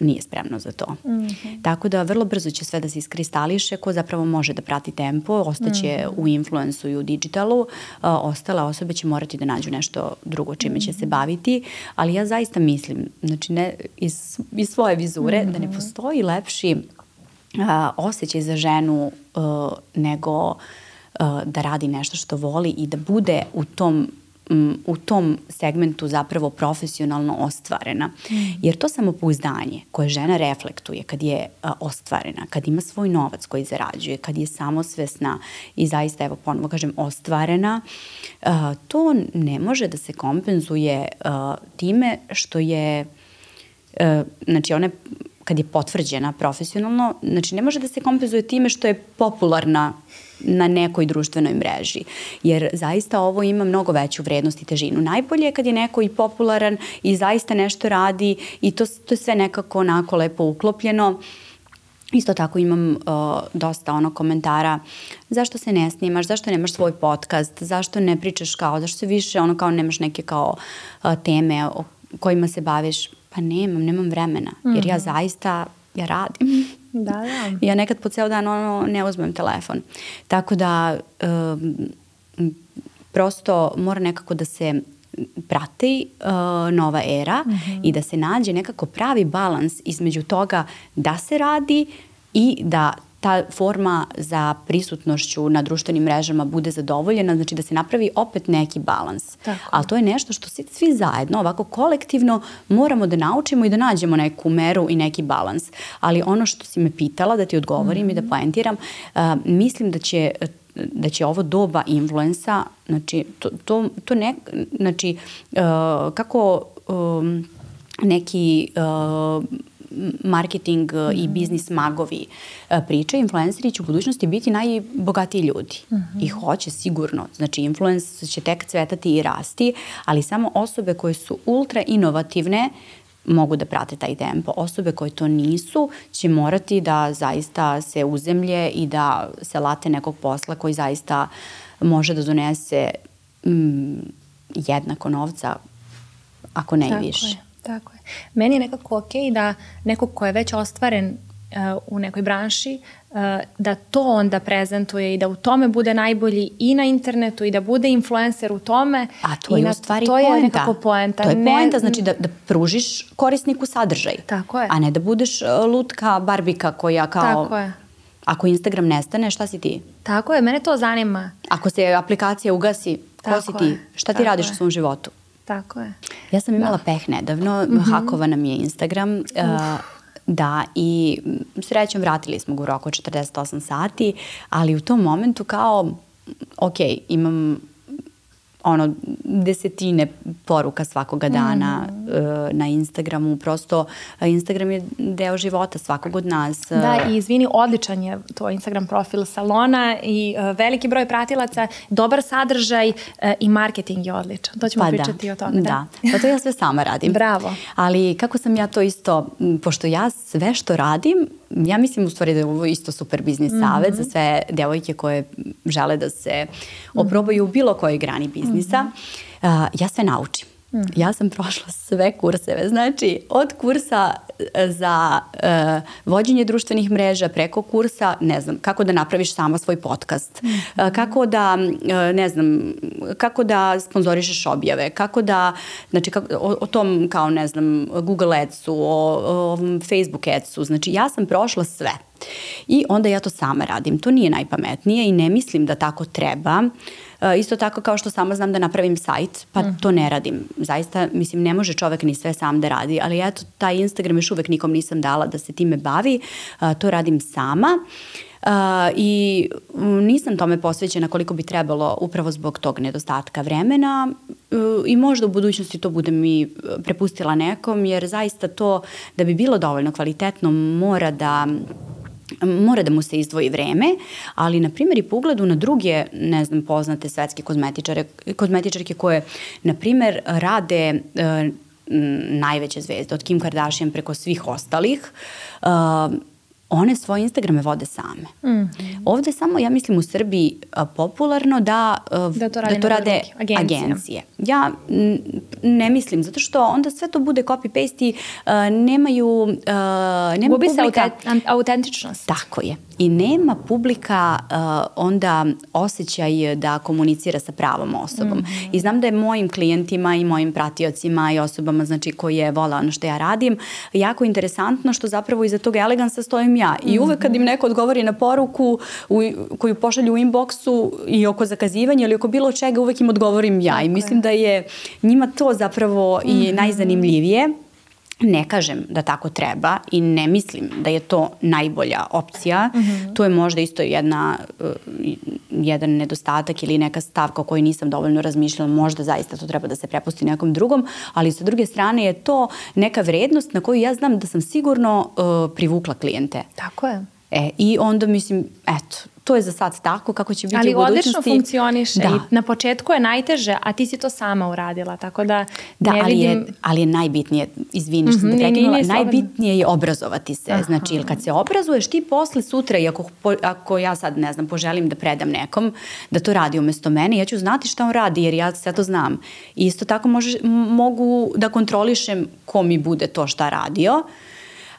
nije spremno za to. Mm-hmm. Tako da vrlo brzo će sve da se iskristališe, ko zapravo može da prati tempo, ostaće mm-hmm. u influensu i u digitalu, uh, ostale osobe će morati da nađu nešto drugo čime mm-hmm. će se baviti, ali ja zaista mislim, znači ne, iz, iz svoje vizure, mm-hmm. da ne postoji lepši uh, osjećaj za ženu uh, nego da radi nešto što voli i da bude u tom, u tom segmentu zapravo profesionalno ostvarena. Mm. Jer to samopouzdanje koje žena reflektuje kad je ostvarena, kad ima svoj novac koji zarađuje, kad je samosvesna i zaista, evo ponovo kažem, ostvarena, to ne može da se kompenzuje time što je, znači ona kad je potvrđena profesionalno, znači ne može da se kompenzuje time što je popularna na nekoj društvenoj mreži. Jer zaista ovo ima mnogo veću vrednost i težinu. Najbolje je kad je neko i popularan i zaista nešto radi i to, to je sve nekako onako lepo uklopljeno. Isto tako imam uh, dosta ono komentara zašto se ne snimaš, zašto nemaš svoj podcast, zašto ne pričaš kao, zašto se više ono kao nemaš neke kao uh, teme o kojima se baviš. Pa nemam, nemam vremena, jer ja zaista, ja radim. Da, da. Ja nekad po ceo dan ono, ne uzmem telefon. Tako da um, prosto mora nekako da se prati uh, nova era mm-hmm. i da se nađe nekako pravi balans između toga da se radi i da ta forma za prisutnošću na društvenim mrežama bude zadovoljena, znači da se napravi opet neki balans. Tako. Ali to je nešto što svi, svi zajedno, ovako kolektivno, moramo da naučimo i da nađemo neku meru i neki balans. Ali ono što si me pitala, da ti odgovorim mm-hmm. i da poentiram, uh, mislim da će da će ovo doba influensa, znači, to, to, to ne, znači, uh, kako um, neki uh, marketing mm-hmm. i biznis magovi priča, influenceri će u budućnosti biti najbogatiji ljudi. Mm-hmm. I hoće sigurno. Znači, influence će tek cvetati i rasti, ali samo osobe koje su ultra inovativne mogu da prate taj tempo. Osobe koje to nisu će morati da zaista se uzemlje i da se late nekog posla koji zaista može da donese mm, jednako novca, ako ne i više. Je, tako je. Meni je nekako okej da neko ko je već ostvaren uh, u nekoj branši, uh, da to onda prezentuje i da u tome bude najbolji i na internetu i da bude influencer u tome. A to je na, u stvari to poenta. Je nekako poenta. To je ne, poenta, znači da, da pružiš korisniku sadržaj. Tako je. A ne da budeš lutka Barbika koja kao... Tako je. Ako Instagram nestane, šta si ti? Tako je, mene to zanima. Ako se aplikacija ugasi, ko Tako si ti? je. Šta ti Tako radiš je. u svom životu? Tako je. Ja sam imala da. peh nedavno, mm-hmm. hakovana mi je Instagram, uh, da, i srećom vratili smo ga u roku četrdeset osam sati, ali u tom momentu kao, ok, imam ono desetine poruka svakoga dana mm. uh, na Instagramu, prosto Instagram je deo života svakog od nas. Da, i izvini, odličan je to Instagram profil salona i uh, veliki broj pratilaca, dobar sadržaj uh, i marketing je odličan. To ćemo pa pričati da, o tome. Da, da. Pa to ja sve sama radim. Bravo. Ali kako sam ja to isto, pošto ja sve što radim, ja mislim u stvari da je ovo isto super biznis mm-hmm. savjet za sve devojke koje žele da se oprobaju u bilo kojoj grani biznisa. Mm-hmm. Uh, ja sve naučim. Mm-hmm. Ja sam prošla sve kurseve, znači od kursa za uh, vođenje društvenih mreža preko kursa, ne znam, kako da napraviš sama svoj podcast, mm-hmm. uh, kako da, uh, ne znam, kako da sponzorišeš objave, kako da, znači kako, o, o tom kao, ne znam, Google Adsu, o, o ovom Facebook Adsu, znači ja sam prošla sve. I onda ja to sama radim. To nije najpametnije i ne mislim da tako treba. Uh, isto tako kao što sama znam da napravim sajt, pa mm. to ne radim. Zaista, mislim, ne može čovek ni sve sam da radi, ali eto, taj Instagram još uvek nikom nisam dala da se time bavi. Uh, to radim sama. Uh, i nisam tome posvećena koliko bi trebalo upravo zbog tog nedostatka vremena uh, i možda u budućnosti to budem i prepustila nekom, jer zaista to da bi bilo dovoljno kvalitetno mora da mora da mu se izdvoji vreme, ali na primjer i po ugledu na druge, ne znam, poznate svetske kozmetičare, kozmetičarke koje, na primjer, rade uh, najveće zvezde, od Kim Kardashian preko svih ostalih, uh, one svoje Instagrame vode same. Mm-hmm. Ovde samo, ja mislim, u Srbiji a, popularno da, a, da to rade, da to rade agencije. agencije. Ja n, ne mislim, zato što onda sve to bude copy-paste i a, nemaju... A, nema Gubi publika, se autentičnost. Tako je. I nema publika uh, onda osjećaj da komunicira sa pravom osobom. Mm-hmm. I znam da je mojim klijentima i mojim pratiocima i osobama, znači, koje vole ono što ja radim, jako interesantno što zapravo iza tog elegansa stojim ja. I mm-hmm. uvek kad im neko odgovori na poruku u, koju pošalju u inboxu i oko zakazivanja ili oko bilo čega, uvek im odgovorim ja. Tako I mislim je. Da je njima to zapravo mm-hmm. i najzanimljivije. Ne kažem da tako treba i ne mislim da je to najbolja opcija. Mm-hmm. To je možda isto jedna, uh, jedan nedostatak ili neka stavka o kojoj nisam dovoljno razmišljala. Možda zaista to treba da se prepusti nekom drugom, ali sa druge strane je to neka vrednost na koju ja znam da sam sigurno uh, privukla klijente. Tako je. E, i onda mislim, eto, to je za sad tako, kako će biti ali u budućnosti. Ali odlično funkcioniše da. I na početku je najteže, a ti si to sama uradila, tako da da, ne ali vidim... Je, ali je najbitnije, izvini što sam mm-hmm, te prekinula, nije, najbitnije je obrazovati se. Aha. Znači, ili kad se obrazuješ ti posle sutra, i ako, ako ja sad, ne znam, poželim da predam nekom da to radi umesto mene, ja ću znati šta on radi, jer ja sve to znam. I isto tako može, mogu da kontrolišem ko mi bude to šta radio.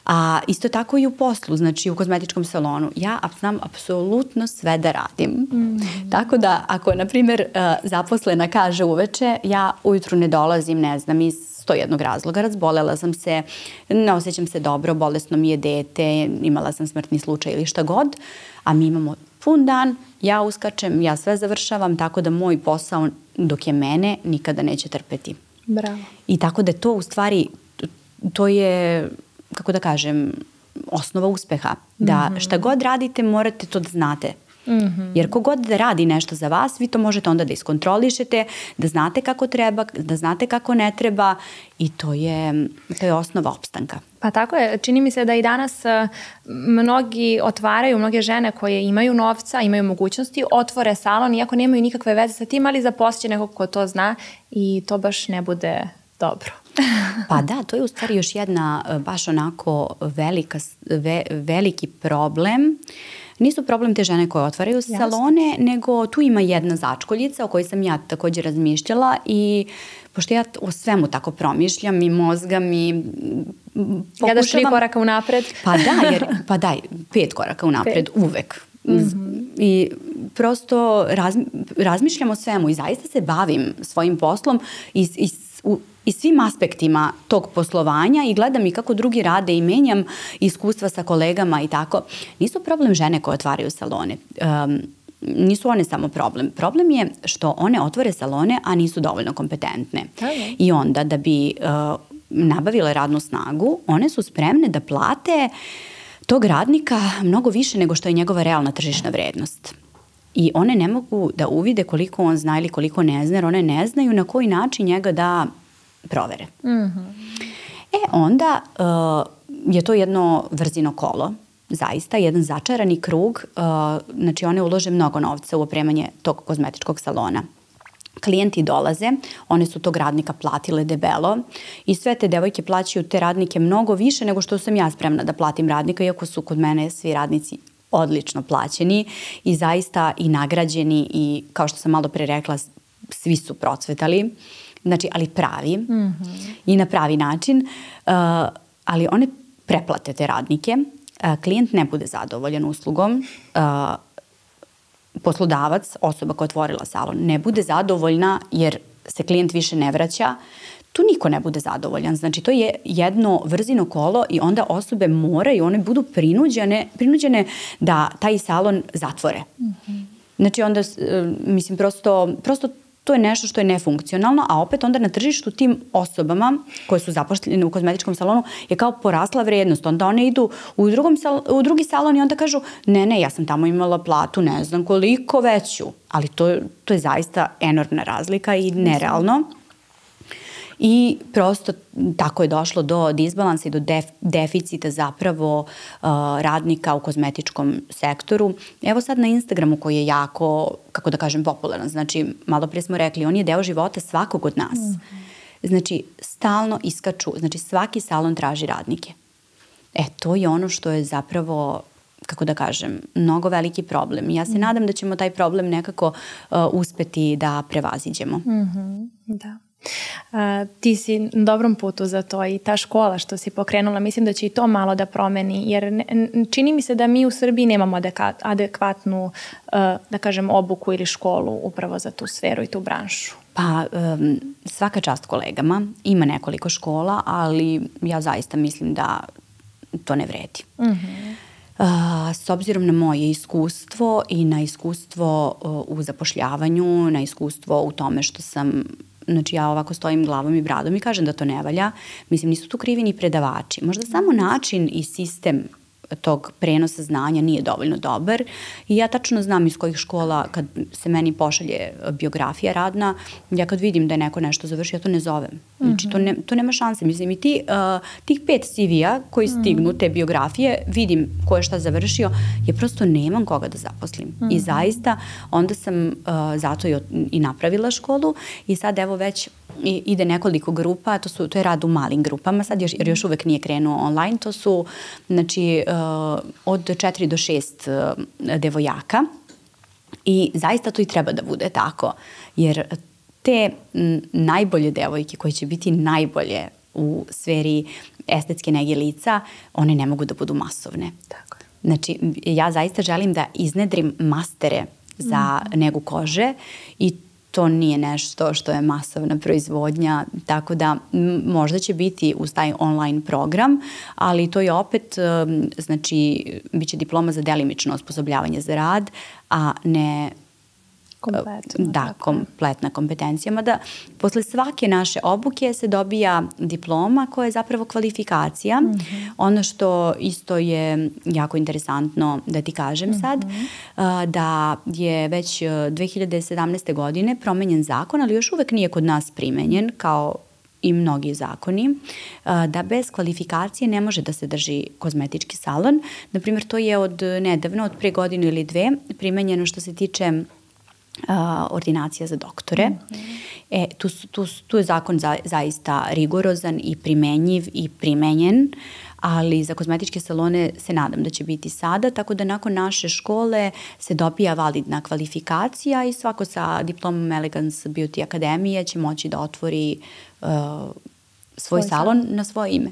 A isto tako i u poslu, znači u kozmetičkom salonu. Ja znam apsolutno sve da radim. Mm-hmm. Tako da ako, na primjer, zaposlena kaže uveče, ja ujutru ne dolazim, ne znam, iz sto jednog razloga, razbolela sam se, ne osjećam se dobro, bolesno mi je dete, imala sam smrtni slučaj ili šta god, a mi imamo pun dan, ja uskačem, ja sve završavam, tako da moj posao dok je mene nikada neće trpeti. Bravo. I tako da to u stvari, to je... kako da kažem, osnova uspeha. Da mm-hmm. šta god radite, morate to da znate. Mm-hmm. Jer kogod da radi nešto za vas, vi to možete onda da iskontrolišete, da znate kako treba, da znate kako ne treba i to je, to je osnova opstanka. Pa tako je. Čini mi se da i danas mnogi otvaraju, mnoge žene koje imaju novca, imaju mogućnosti, otvore salon, iako nemaju nikakve veze sa tim, ali zaposće nekog ko to zna i to baš ne bude dobro. Pa da, to je u stvari još jedna baš onako velika, ve, veliki problem nisu problem te žene koje otvaraju Jasne. salone, nego tu ima jedna začkoljica o kojoj sam ja također razmišljala i pošto ja o svemu tako promišljam i mozgam i pokušavam... Gledaš tri koraka unapred? Pa da, jer, pa daj, pet koraka unapred, pet. uvek. Mm-hmm. I prosto raz, razmišljam o svemu i zaista se bavim svojim poslom i, i, u, i svim aspektima tog poslovanja i gledam i kako drugi rade i menjam iskustva sa kolegama i tako. Nisu problem žene koje otvaraju salone. Um, nisu one samo problem. Problem je što one otvore salone, a nisu dovoljno kompetentne. Okay. I onda da bi uh, nabavile radnu snagu, one su spremne da plate tog radnika mnogo više nego što je njegova realna tržišna vrednost. I one ne mogu da uvide koliko on zna ili koliko ne zna, jer one ne znaju na koji način njega da provere. Mm-hmm. E onda uh, je to jedno vrzino kolo, zaista, jedan začarani krug. Uh, znači one ulože mnogo novca u opremanje tog kozmetičkog salona. Klijenti dolaze, one su tog radnika platile debelo i sve te devojke plaćaju te radnike mnogo više nego što sam ja spremna da platim radnika, iako su kod mene svi radnici odlično plaćeni i zaista i nagrađeni i kao što sam malo pre rekla, svi su procvetali, znači ali pravi mm-hmm. i na pravi način, uh, ali one preplate te radnike, uh, klijent ne bude zadovoljan uslugom, uh, poslodavac, osoba koja je otvorila salon, ne bude zadovoljna jer se klijent više ne vraća, tu niko ne bude zadovoljan. Znači, to je jedno vrzino kolo i onda osobe moraju, one budu prinuđene, prinuđene da taj salon zatvore. Mm-hmm. Znači, onda, mislim, prosto, prosto to je nešto što je nefunkcionalno, a opet onda na tržištu tim osobama koje su zapošljene u kozmetičkom salonu je kao porasla vrednost. Onda one idu u, drugom sal, u drugi salon i onda kažu ne, ne, ja sam tamo imala platu, ne znam koliko veću. Ali to, to je zaista enormna razlika i nerealno. I prosto tako je došlo do disbalansa i do def, deficita zapravo uh, radnika u kozmetičkom sektoru. Evo sad na Instagramu koji je jako, kako da kažem, popularan. Znači, malo prije smo rekli, on je deo života svakog od nas. Mm. Znači, stalno iskaču, znači svaki salon traži radnike. E, to je ono što je zapravo, kako da kažem, mnogo veliki problem. Ja se mm. nadam da ćemo taj problem nekako uh, uspeti da prevaziđemo. Mm-hmm. Da. Uh, ti si na dobrom putu za to i ta škola što si pokrenula, mislim da će i to malo da promeni, jer ne, čini mi se da mi u Srbiji nemamo adeka, adekvatnu, uh, da kažem, obuku ili školu upravo za tu sferu i tu branšu. Pa um, svaka čast kolegama, ima nekoliko škola, ali ja zaista mislim da to ne vredi. Mm-hmm. Uh, s obzirom na moje iskustvo i na iskustvo uh, u zapošljavanju, na iskustvo u tome što sam, znači ja ovako stojim glavom i bradom i kažem da to ne valja, mislim nisu tu krivi ni predavači. Možda samo način i sistem tog prenosa znanja nije dovoljno dobar i ja tačno znam iz kojih škola kad se meni pošalje biografija radna, ja kad vidim da je neko nešto završio, ja to ne zovem. Znači to, ne, to nema šanse. Mislim i ti, uh, tih pet C V-a koji stignu, te biografije, vidim ko je šta završio, ja prosto nemam koga da zaposlim. Mm-hmm. I zaista onda sam uh, zato i, i napravila školu i sad evo već i, ide nekoliko grupa, to, su, to je rad u malim grupama, sad još, jer još uvek nije krenuo online, to su znači uh, od četiri do šest uh, devojaka i zaista to i treba da bude tako, jer te m, najbolje devojke koje će biti najbolje u sferi estetske nege lica, one ne mogu da budu masovne. Tako. Znači, ja zaista želim da iznedrim mastere za mm. negu kože i to nije nešto što je masovna proizvodnja, tako da m, možda će biti uz taj online program, ali to je opet, um, znači, bit će diploma za delimično osposobljavanje za rad, a ne kompletno, da, tako. kompletna kompetencija. Mada posle svake naše obuke se dobija diploma koja je zapravo kvalifikacija. Mm-hmm. Ono što isto je jako interesantno da ti kažem mm-hmm. sad, da je već dve hiljade sedamnaeste. godine promenjen zakon, ali još uvek nije kod nas primenjen kao i mnogi zakoni, da bez kvalifikacije ne može da se drži kozmetički salon. Naprimjer, to je od nedavno, od pre godinu ili dve, primenjeno što se tiče Uh, ordinacija za doktore. Mm-hmm. E, tu, tu, tu je zakon za, zaista rigorozan i primenjiv i primenjen, ali za kozmetičke salone se nadam da će biti sada, tako da nakon naše škole se dobija validna kvalifikacija i svako sa diplomom Elegance Beauty Akademije će moći da otvori uh, svoj, svoj salon na svoje ime.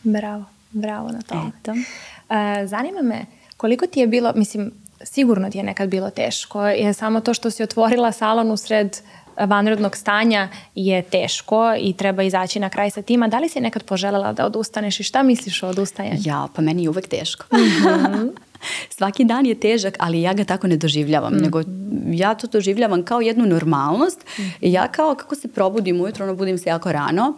Bravo, bravo na to. Eto. Uh, zanima me, koliko ti je bilo, mislim, sigurno ti je nekad bilo teško, je samo to što si otvorila salon usred vanrednog stanja je teško i treba izaći na kraj sa tima. Da li si nekad poželjela da odustaneš i šta misliš o odustajanju? Ja, pa meni je uvek teško. Mm-hmm. Svaki dan je težak, ali ja ga tako ne doživljavam, mm-hmm. nego ja to doživljavam kao jednu normalnost. Mm-hmm. I ja kao kako se probudim ujutro, ono budim se jako rano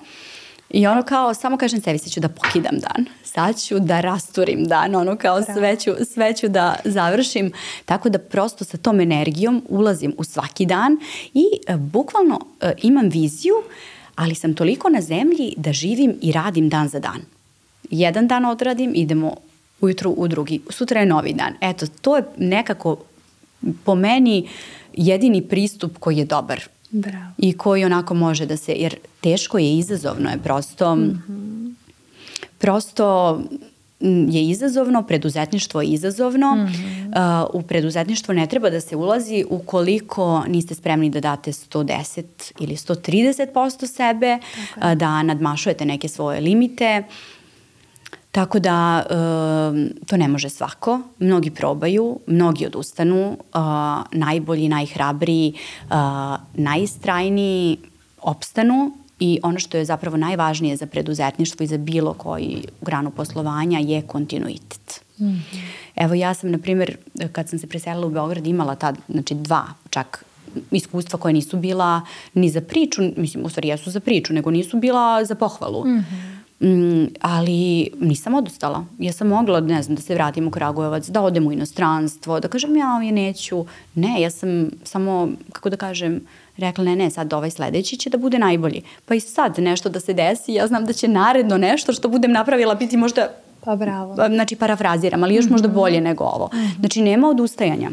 i ono kao samo kažem sebi, sad ću da pokidam dan, sad ću da rasturim dan, ono kao sve ću, sve ću da završim, tako da prosto sa tom energijom ulazim u svaki dan i e, bukvalno e, imam viziju, ali sam toliko na zemlji da živim i radim dan za dan. Jedan dan odradim, idemo ujutru u drugi, sutra je novi dan. Eto, to je nekako po meni jedini pristup koji je dobar. Bravo. I koji onako može da se, jer teško je, izazovno je prosto, mm-hmm. prosto je izazovno, preduzetništvo je izazovno. Mm-hmm. Uh, u preduzetništvo ne treba da se ulazi ukoliko niste spremni da date sto deset ili sto trideset posto sebe, okay. uh, da nadmašujete neke svoje limite. Tako da uh, to ne može svako. Mnogi probaju, mnogi odustanu, uh, najbolji, najhrabriji, uh, najistrajniji opstanu i ono što je zapravo najvažnije za preduzetništvo i za bilo koji granu poslovanja je kontinuitet. Mm-hmm. Evo ja sam, na primjer, kad sam se preselila u Beograd imala tad, znači dva čak iskustva koja nisu bila ni za priču, mislim u stvari jesu za priču, nego nisu bila za pohvalu. Mm-hmm. Mm, ali nisam odustala. Ja sam mogla, ne znam, da se vratim u Kragujevac, da odem u inostranstvo, da kažem ja, ja neću. Ne, ja sam samo, kako da kažem, rekla ne, ne, sad ovaj sledeći će da bude najbolji. Pa i sad nešto da se desi, ja znam da će naredno nešto što budem napravila biti možda, pa bravo. Znači parafraziram, ali još mm-hmm. možda bolje nego ovo. Mm-hmm. Znači nema odustajanja.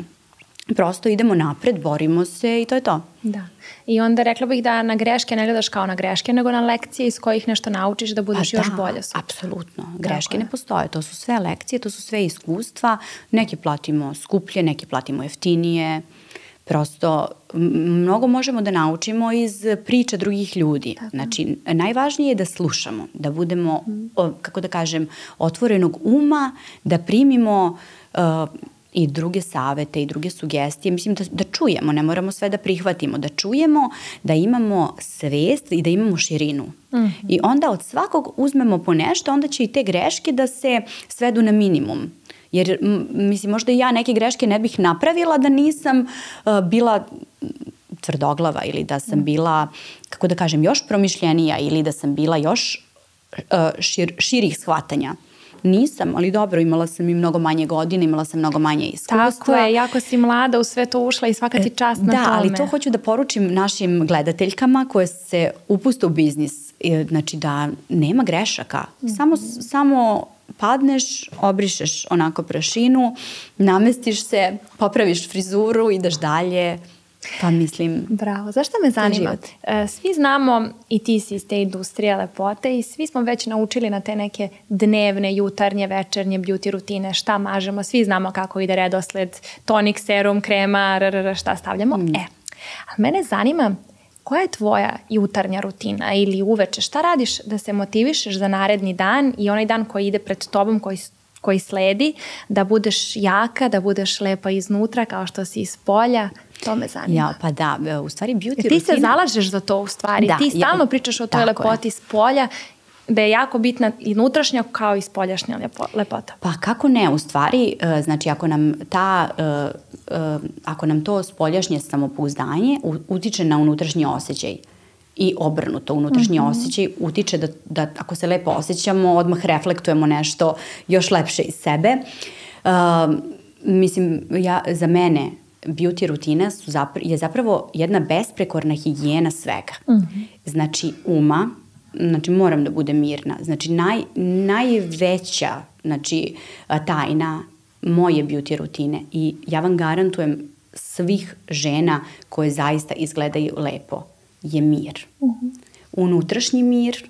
Prosto idemo napred, borimo se i to je to. Da. I onda rekla bih da na greške ne gledaš kao na greške, nego na lekcije iz kojih nešto naučiš da budeš pa još da, bolje sutra. Apsolutno. Greške ne postoje. To su sve lekcije, to su sve iskustva. Neke platimo skuplje, neke platimo jeftinije. Prosto mnogo možemo da naučimo iz priča drugih ljudi. Tako. Znači, najvažnije je da slušamo, da budemo, mm. o, kako da kažem, otvorenog uma, da primimo uh, i druge savete i druge sugestije. Mislim da, da čujemo, ne moramo sve da prihvatimo, da čujemo, da imamo svest i da imamo širinu. Mm-hmm. I onda od svakog uzmemo po nešto, onda će i te greške da se svedu na minimum. Jer, m, mislim, možda i ja neke greške ne bih napravila da nisam uh, bila tvrdoglava ili da sam bila, kako da kažem, još promišljenija ili da sam bila još uh, šir, širih shvatanja. Nisam, ali dobro, imala sam i mnogo manje godine, imala sam mnogo manje iskustva. Tako je, jako si mlada u sve to ušla i svaka ti čast na da, tome. Da, ali to hoću da poručim našim gledateljkama koje se upuste u biznis. Znači da nema grešaka. Mm-hmm. Samo, samo padneš, obrišeš onako prašinu, namestiš se, popraviš frizuru, ideš dalje. Pa mislim... Bravo. Zašto me zanima? Svi znamo, i ti si iz te industrije lepote i svi smo već naučili na te neke dnevne, jutarnje, večernje beauty rutine, šta mažemo, svi znamo kako ide redosled, tonik, serum, krema, rrr, šta stavljamo. Mm. E, a mene zanima koja je tvoja jutarnja rutina ili uveče, šta radiš da se motivišeš za naredni dan i onaj dan koji ide pred tobom, koji koji sledi, da budeš jaka, da budeš lepa iznutra kao što si iz polja. To me zanima. Ja, pa da, u stvari beauty rutina... Ti se zalažeš za to u stvari. Da, ti stalno ja, pričaš o toj lepoti iz polja, da je jako bitna i unutrašnja kao i spoljašnja lepota. Pa kako ne, u stvari, znači ako nam ta, ako nam to spoljašnje samopouzdanje utiče na unutrašnji osjećaj i obrnuto, unutrašnji mm-hmm. osjećaj utiče da, da ako se lepo osjećamo, odmah reflektujemo nešto još lepše iz sebe. Uh, mislim, ja, za mene beauty rutina su zapra- je zapravo jedna besprekorna higijena svega. Mm-hmm. Znači uma, znači moram da budem mirna. Znači naj, najveća znači, tajna moje beauty rutine i ja vam garantujem svih žena koje zaista izgledaju lepo je mir. Uh-huh. Unutrašnji mir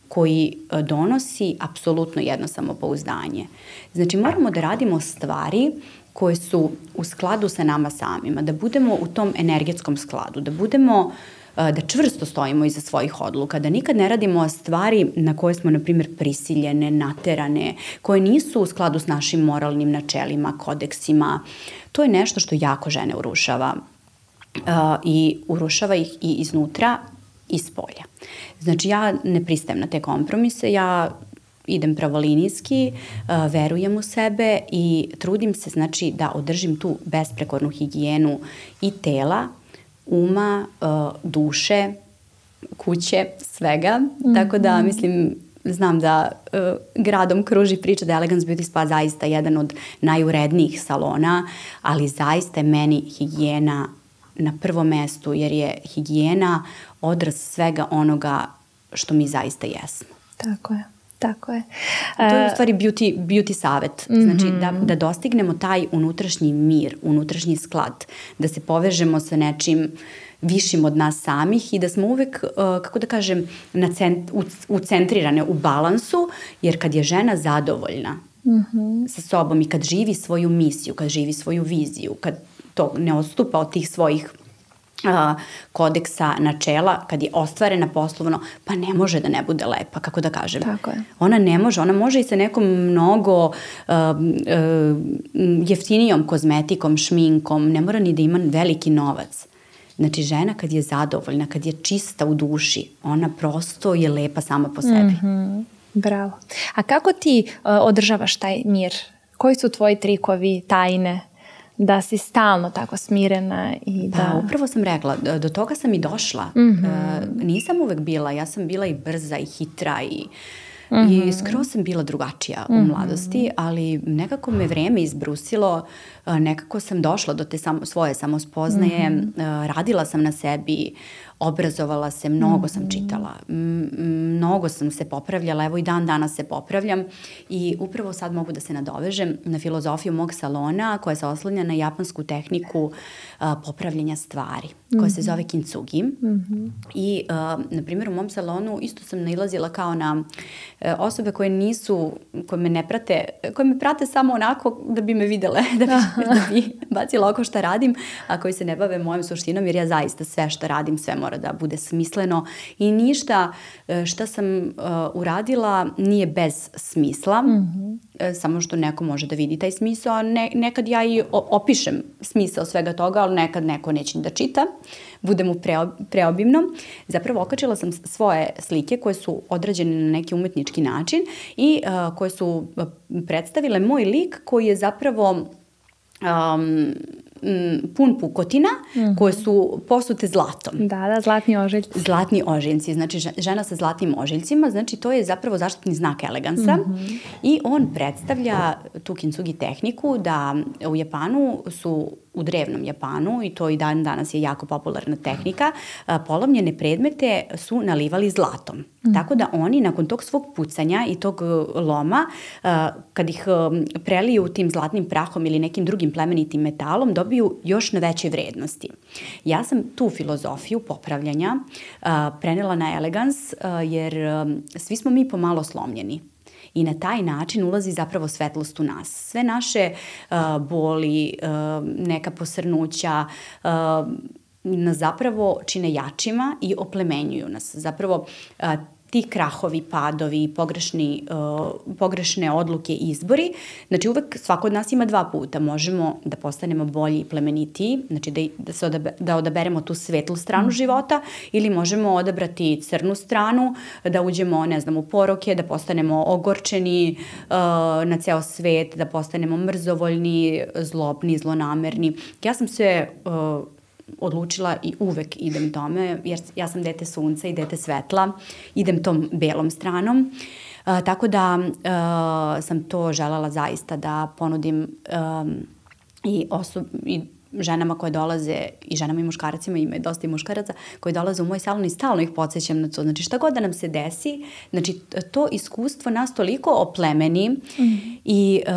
koji donosi apsolutno jedno samopouzdanje. Znači, moramo da radimo stvari koje su u skladu sa nama samima, da budemo u tom energetskom skladu, da budemo, da čvrsto stojimo iza svojih odluka, da nikad ne radimo stvari na koje smo, na primjer, prisiljene, naterane, koje nisu u skladu s našim moralnim načelima, kodeksima. To je nešto što jako žene urušava i urušava ih i iznutra i s polja. Znači, ja ne pristajem na te kompromise, ja idem pravolinijski, verujem u sebe i trudim se, znači, da održim tu besprekornu higijenu i tela, uma, duše, kuće, svega. Mm-hmm. Tako da, mislim, znam da uh, gradom kruži priča da je Elegance Beauty Spa zaista jedan od najurednijih salona, ali zaista je meni higijena na prvom mestu, jer je higijena odraz svega onoga što mi zaista jesmo. Tako je. Tako je. To je u stvari beauty, beauty savet. Znači, mm-hmm. da, da dostignemo taj unutrašnji mir, unutrašnji sklad, da se povežemo sa nečim višim od nas samih i da smo uvek, uh, kako da kažem, na cent, u, ucentrirane u balansu, jer kad je žena zadovoljna mm-hmm. sa sobom i kad živi svoju misiju, kad živi svoju viziju, kad to ne odstupa od tih svojih Uh, kodeksa, načela, kad je ostvarena poslovno, pa ne može da ne bude lepa, kako da kažem. Tako je. Ona ne može, ona može i sa nekom mnogo uh, uh, jeftinijom kozmetikom, šminkom, ne mora ni da ima veliki novac. Znači, žena kad je zadovoljna, kad je čista u duši, ona prosto je lepa sama po sebi. Mm-hmm. Bravo. A kako ti uh, održavaš taj mir? Koji su tvoji trikovi, tajne? Da si stalno tako smirena i da... Da, upravo sam rekla, do toga sam i došla. Mm-hmm. E, nisam uvek bila, ja sam bila i brza i hitra i, mm-hmm. i skroz sam bila drugačija mm-hmm. u mladosti, ali nekako me vreme izbrusilo, nekako sam došla do te samo, svoje samospoznaje, mm-hmm. radila sam na sebi, obrazovala se, mnogo mm-hmm. sam čitala, mnogo sam se popravljala, evo i dan danas se popravljam i upravo sad mogu da se nadovežem na filozofiju mog salona koja se oslanja na japansku tehniku a, popravljanja stvari, koja mm-hmm. se zove kintsugi. Mm-hmm. I, a, na primjer, u mom salonu isto sam nailazila kao na a, osobe koje nisu, koje me ne prate, koje me prate samo onako da bi me videle, da bi, da bi bacila oko šta radim, a koji se ne bave mojom suštinom, jer ja zaista sve što radim, sve mora da bude smisleno i ništa šta sam uh, uradila nije bez smisla, mm-hmm. samo što neko može da vidi taj smisao, a ne, nekad ja i opišem smisao svega toga, ali nekad neko neće da čita, bude mu preob, preobimno. Zapravo okačila sam svoje slike koje su odrađene na neki umetnički način i uh, koje su predstavile moj lik koji je zapravo um, pun pukotina mm-hmm. koje su posute zlatom. Da, da, zlatni ožiljci. Zlatni ožiljci, znači žena sa zlatnim ožiljcima, znači to je zapravo zaštitni znak elegansa mm-hmm. i on predstavlja tu kintsugi tehniku da u Japanu su u drevnom Japanu, i to i dan danas je jako popularna tehnika, polomljene predmete su nalivali zlatom. Mm. Tako da oni nakon tog svog pucanja i tog loma, kad ih preliju tim zlatnim prahom ili nekim drugim plemenitim metalom, dobiju još na veće vrednosti. Ja sam tu filozofiju popravljanja prenela na Elegance, jer svi smo mi pomalo slomljeni. I na taj način ulazi zapravo svetlost u nas. Sve naše uh, boli, uh, neka posrnuća uh, nas zapravo čine jačima i oplemenjuju nas. Zapravo uh, ti krahovi, padovi, pogrešni, uh, pogrešne odluke i izbori, znači uvek svako od nas ima dva puta. Možemo da postanemo bolji i plemenitiji, znači da, da, se odabe, da odaberemo tu svetlu stranu mm. života, ili možemo odabrati crnu stranu, da uđemo, ne znam, u poroke, da postanemo ogorčeni uh, na ceo svet, da postanemo mrzovoljni, zlobni, zlonamerni. Ja sam se... Uh, odlučila i uvek idem tome, jer ja sam dete sunca i dete svetla, idem tom belom stranom, uh, tako da uh, sam to želela zaista da ponudim um, i, osob, i ženama koje dolaze, i ženama i muškarcima, ima dosta i muškaraca, koji dolaze u moj salon i stalno ih podsjećam na to. Znači šta god da nam se desi, znači to iskustvo nas toliko oplemeni mm. i uh,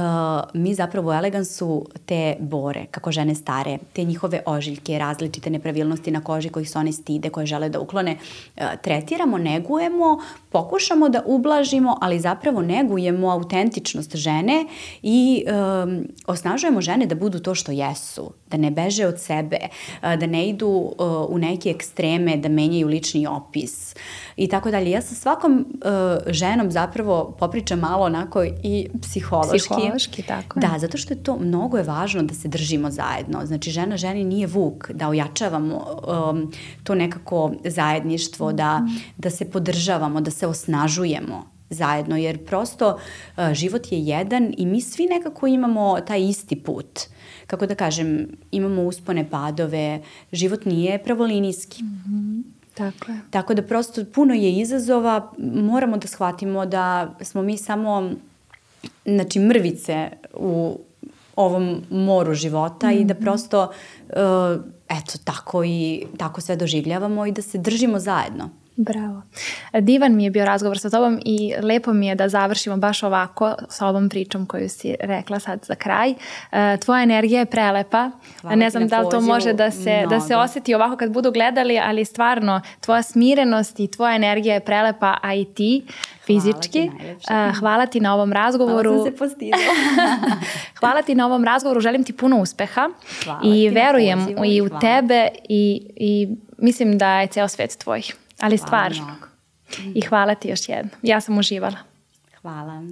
mi zapravo u Elegansu te bore, kako žene stare, te njihove ožiljke, različite nepravilnosti na koži kojih se one stide, koje žele da uklone, uh, tretiramo, negujemo, pokušamo da ublažimo, ali zapravo negujemo autentičnost žene i um, osnažujemo žene da budu to što jesu, da ne beže od sebe, da ne idu u neke ekstreme, da menjaju lični opis i tako dalje. Ja sa svakom ženom zapravo popričam malo onako i psihološki. Psihološki, tako. Da, zato što je to, mnogo je važno da se držimo zajedno. Znači, žena ženi nije vuk, da ojačavamo um, to nekako zajedništvo, da, da se podržavamo, da se osnažujemo zajedno, jer prosto uh, život je jedan i mi svi nekako imamo taj isti put. Kako da kažem, imamo uspone, padove, život nije pravolinijski. Mm-hmm. Tako je. Tako da prosto puno je izazova, moramo da shvatimo da smo mi samo, znači, mrvice u ovom moru života mm-hmm. i da prosto, uh, eto, tako i tako sve doživljavamo i da se držimo zajedno. Bravo. Divan mi je bio razgovor sa tobom i lepo mi je da završimo baš ovako sa ovom pričom koju si rekla sad za kraj. Tvoja energija je prelepa. Hvala, ne znam da li to može da se, da se osjeti ovako kad budu gledali, ali stvarno tvoja smirenost i tvoja energija je prelepa, a i ti fizički. Hvala ti, Hvala ti na ovom razgovoru. Hvala sam se postidila. Hvala ti na ovom razgovoru. Želim ti puno uspeha. Hvala i verujem pozivu, i u hvala. tebe i, i mislim da je ceo svet tvoj. Ali stvarno. I hvala ti još jedno. Ja sam uživala. Hvala.